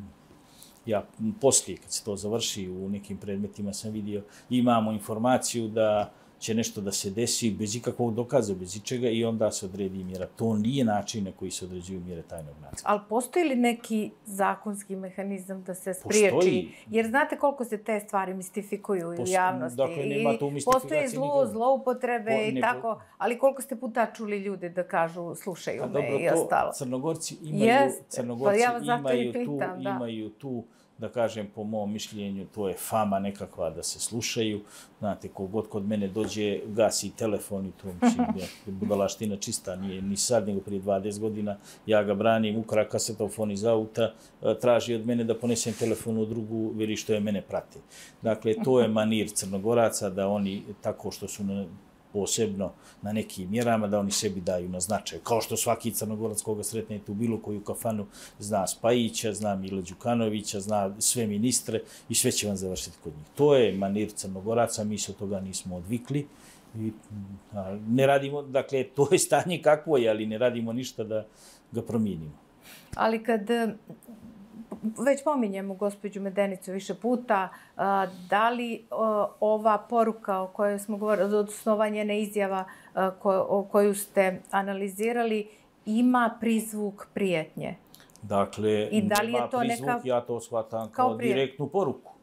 ja poslije, kad se to završi, u nekim predmetima sam vidio, imamo informaciju da će nešto da se desi bez ikakvog dokaza, bez ičega i onda se odredi mjera. To nije način na koji se određuju mjere tajnog nadzora. Ali postoji li neki zakonski mehanizam da se spriječi? Postoji. Jer znate koliko se te stvari mistifikuju u javnosti. Dakle, nema tu mistifikacije. Postoje zloupotrebe i tako, ali koliko ste puta čuli ljude da kažu slušaju me i ostalo. Crnogorci imaju tu, da kažem, po mom mišljenju, to je fama nekakva da se slušaju. Znate, kogod kod mene dođe, gasi telefon i to, mislim, budalaština čista, nije ni sad, nego prije 20 godina. Ja ga branim, ukra kasetofon iz auta, traži od mene da ponesem telefon u drugu, veri što je mene prate. Dakle, to je manir Crnogoraca, da oni, tako što su posebno na nekim mjerama, da oni sebi daju na značaj. Kao što svaki Crnogorac koga sretnete u bilo koju kafanu zna Spajića, zna Mila Đukanovića, zna sve ministre i sve će vam završiti kod njih. To je manir Crnogoraca, mi se od toga nismo odvikli. I ne radimo, dakle, to je stanje kakvo je, ali ne radimo ništa da ga promijenimo. Ali kad već pominjemo gospođu Medenicu više puta, da li ova poruka o kojoj smo govorili, odnosno njene izjava koju ste analizirali, ima prizvuk prijetnje? Dakle, nema prizvuk, ja to shvatam kao direktnu poruku.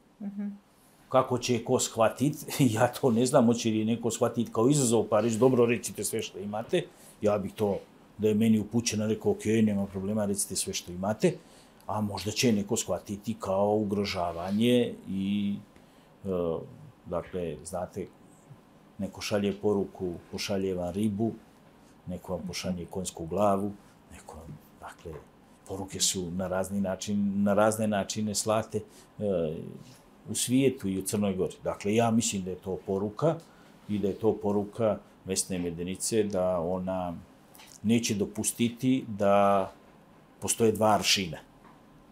Kako će ko shvatiti, ja to ne znam, hoće li neko shvatiti kao izazov, pa reći, dobro, recite sve što imate. Ja bih to, da je meni upućeno, rekao, ok, nema problema, recite sve što imate. A možda će neko shvatiti kao ugrožavanje i, dakle, znate, neko šalje poruku, pošalje vam ribu, neko vam pošalje konjsku glavu, neko, dakle, poruke su na razne načine slate u svijetu i u Crnoj Gori. Dakle, ja mislim da je to poruka i da je to poruka Vesne Medenice da ona neće dopustiti da postoje dva aršina.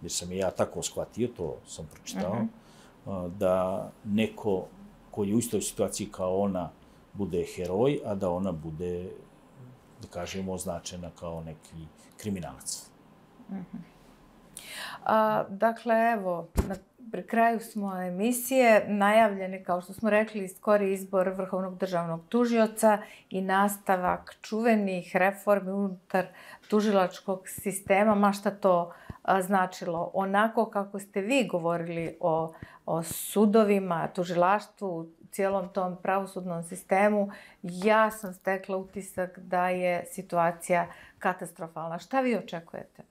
Jer sam ja tako shvatio, to sam pročitao, da neko koji je u istoj situaciji kao ona bude heroj, a da ona bude, da kažemo, označena kao neki kriminalac. Dakle, evo, pri kraju smo emisije, najavljeni, kao što smo rekli, skori izbor Vrhovnog državnog tužioca i nastavak čuvenih reformi unutar tužilačkog sistema, ma šta to značilo. Onako kako ste vi govorili o sudovima, tužilaštvu, cijelom tom pravosudnom sistemu, ja sam stekla utisak da je situacija katastrofalna. Šta vi očekujete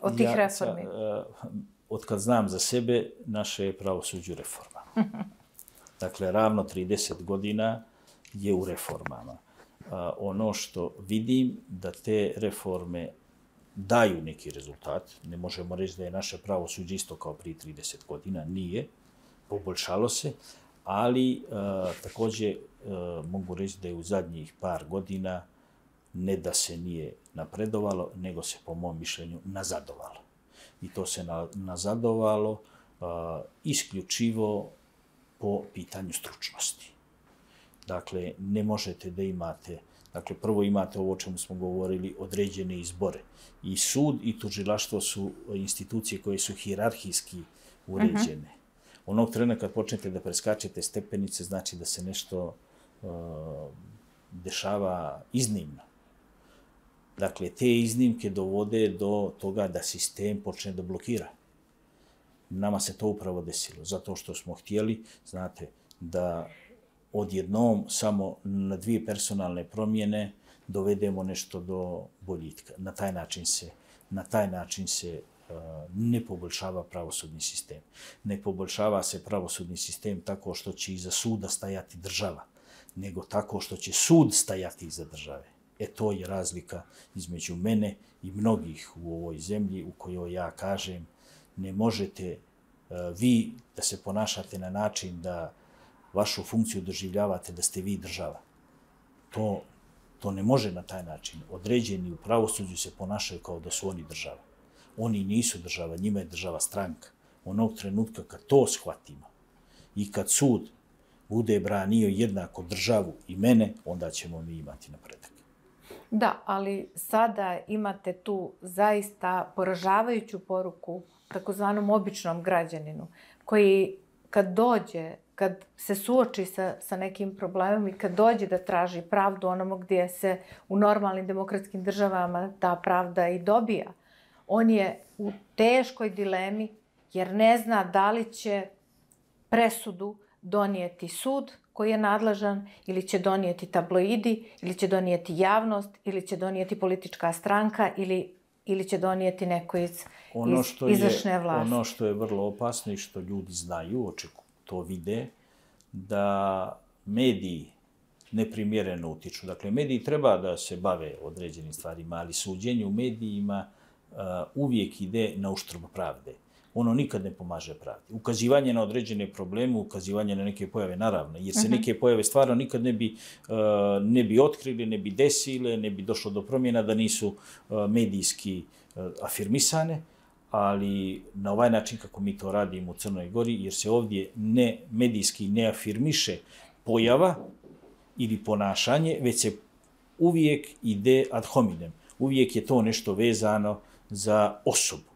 od tih reformi? Od kad znam za sebe, naše je pravosuđe u reformama. Dakle, ravno 30 godina je u reformama. Ono što vidim da te reforme daju neki rezultat. Ne možemo reći da je naše pravosuđe isto kao prije 30 godina. Nije. Poboljšalo se. Ali također mogu reći da je u zadnjih par godina ne da se nije napredovalo, nego se po mom mišljenju nazadovalo. I to se nazadovalo isključivo po pitanju stručnosti. Dakle, ne možete da imate, dakle, prvo imate ovo o čemu smo govorili, određene izbore. I sud i tužilaštvo su institucije koje su hijerarhijski uređene. Onog trena kad počnete da preskačete stepenice, znači da se nešto dešava iznimno. Dakle, te iznimke dovode do toga da sistem počne da blokira. Nama se to upravo desilo, zato što smo htjeli, znate, da odjednom samo na 2 personalne promjene dovedemo nešto do boljitka. Na taj način se ne poboljšava pravosudni sistem. Ne poboljšava se pravosudni sistem tako što će iza suda stajati država, nego tako što će sud stajati iza države. To je razlika između mene i mnogih u ovoj zemlji u kojoj ja kažem ne možete vi da se ponašate na način da vašu funkciju doživljavate da ste vi država. To ne može na taj način. Određeni u pravosuđu se ponašaju kao da su oni država. Oni nisu država, njima je država stranka. Onog trenutka kad to shvatimo i kad sud bude branio jednako državu i mene, onda ćemo mi imati napredak. Da, ali sada imate tu zaista poražavajuću poruku takozvanom običnom građaninu, koji kad dođe, kad se suoči sa nekim problemom i kad dođe da traži pravdu onomu gdje se u normalnim demokratskim državama ta pravda i dobija, on je u teškoj dilemi jer ne zna da li će presudu donijeti sud koji je nadležan, ili će donijeti tabloidi, ili će donijeti javnost, ili će donijeti politička stranka, ili će donijeti neko iz izvršne vlasti. Ono što je vrlo opasno i što ljudi znaju, to vide, da mediji neprimjereno utiču. Dakle, mediji treba da se bave određenim stvarima, ali suđenje u medijima uvijek ide na uštrb pravde. Ono nikad ne pomaže pravdi. Ukazivanje na određene probleme, ukazivanje na neke pojave, naravno, jer se neke pojave stvarno nikad ne bi otkrili, ne bi desile, ne bi došlo do promjena da nisu medijski afirmisane, ali na ovaj način kako mi to radimo u Crnoj Gori, jer se ovdje medijski ne afirmiše pojava ili ponašanje, već se uvijek ide ad hominem. Uvijek je to nešto vezano za osobu.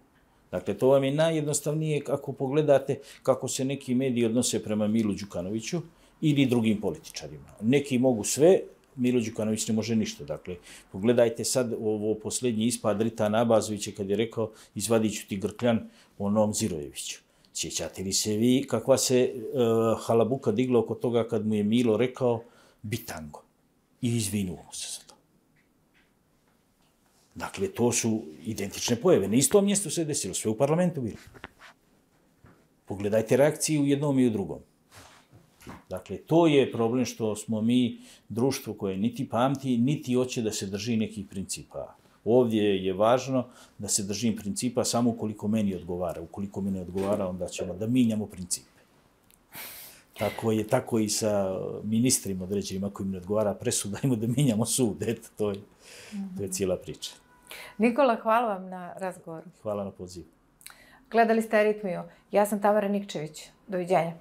Dakle, to vam je najjednostavnije ako pogledate kako se neki mediji odnose prema Milu Đukanoviću ili drugim političarima. Neki mogu sve, Milo Đukanović ne može ništa. Dakle, pogledajte sad ovo posljednji ispad Ritana Abazovića kad je rekao izvadit ću ti grkljan onom Zirojeviću. Sjećate li se vi kakva se halabuka digla oko toga kad mu je Milo rekao bitango i izvinuo mu se za to. Dakle, to su identične pojave. Na istom mjestu se desilo, sve u parlamentu bilo. Pogledajte reakciju u jednom i u drugom. Dakle, to je problem što smo mi društvo koje niti pamti, niti hoće da se drži nekih principa. Ovdje je važno da se držim principa samo ukoliko meni odgovara. Ukoliko mi ne odgovara, onda ćemo da minjamo principe. Tako i sa ministrima određenima, ako im ne odgovara presuda, dajmo da minjamo sud. Eto, to je cijela priča. Nikola, hvala vam na razgovoru. Hvala na pozivu. Gledali ste Aritmiju. Ja sam Tamara Nikčević. Doviđenja.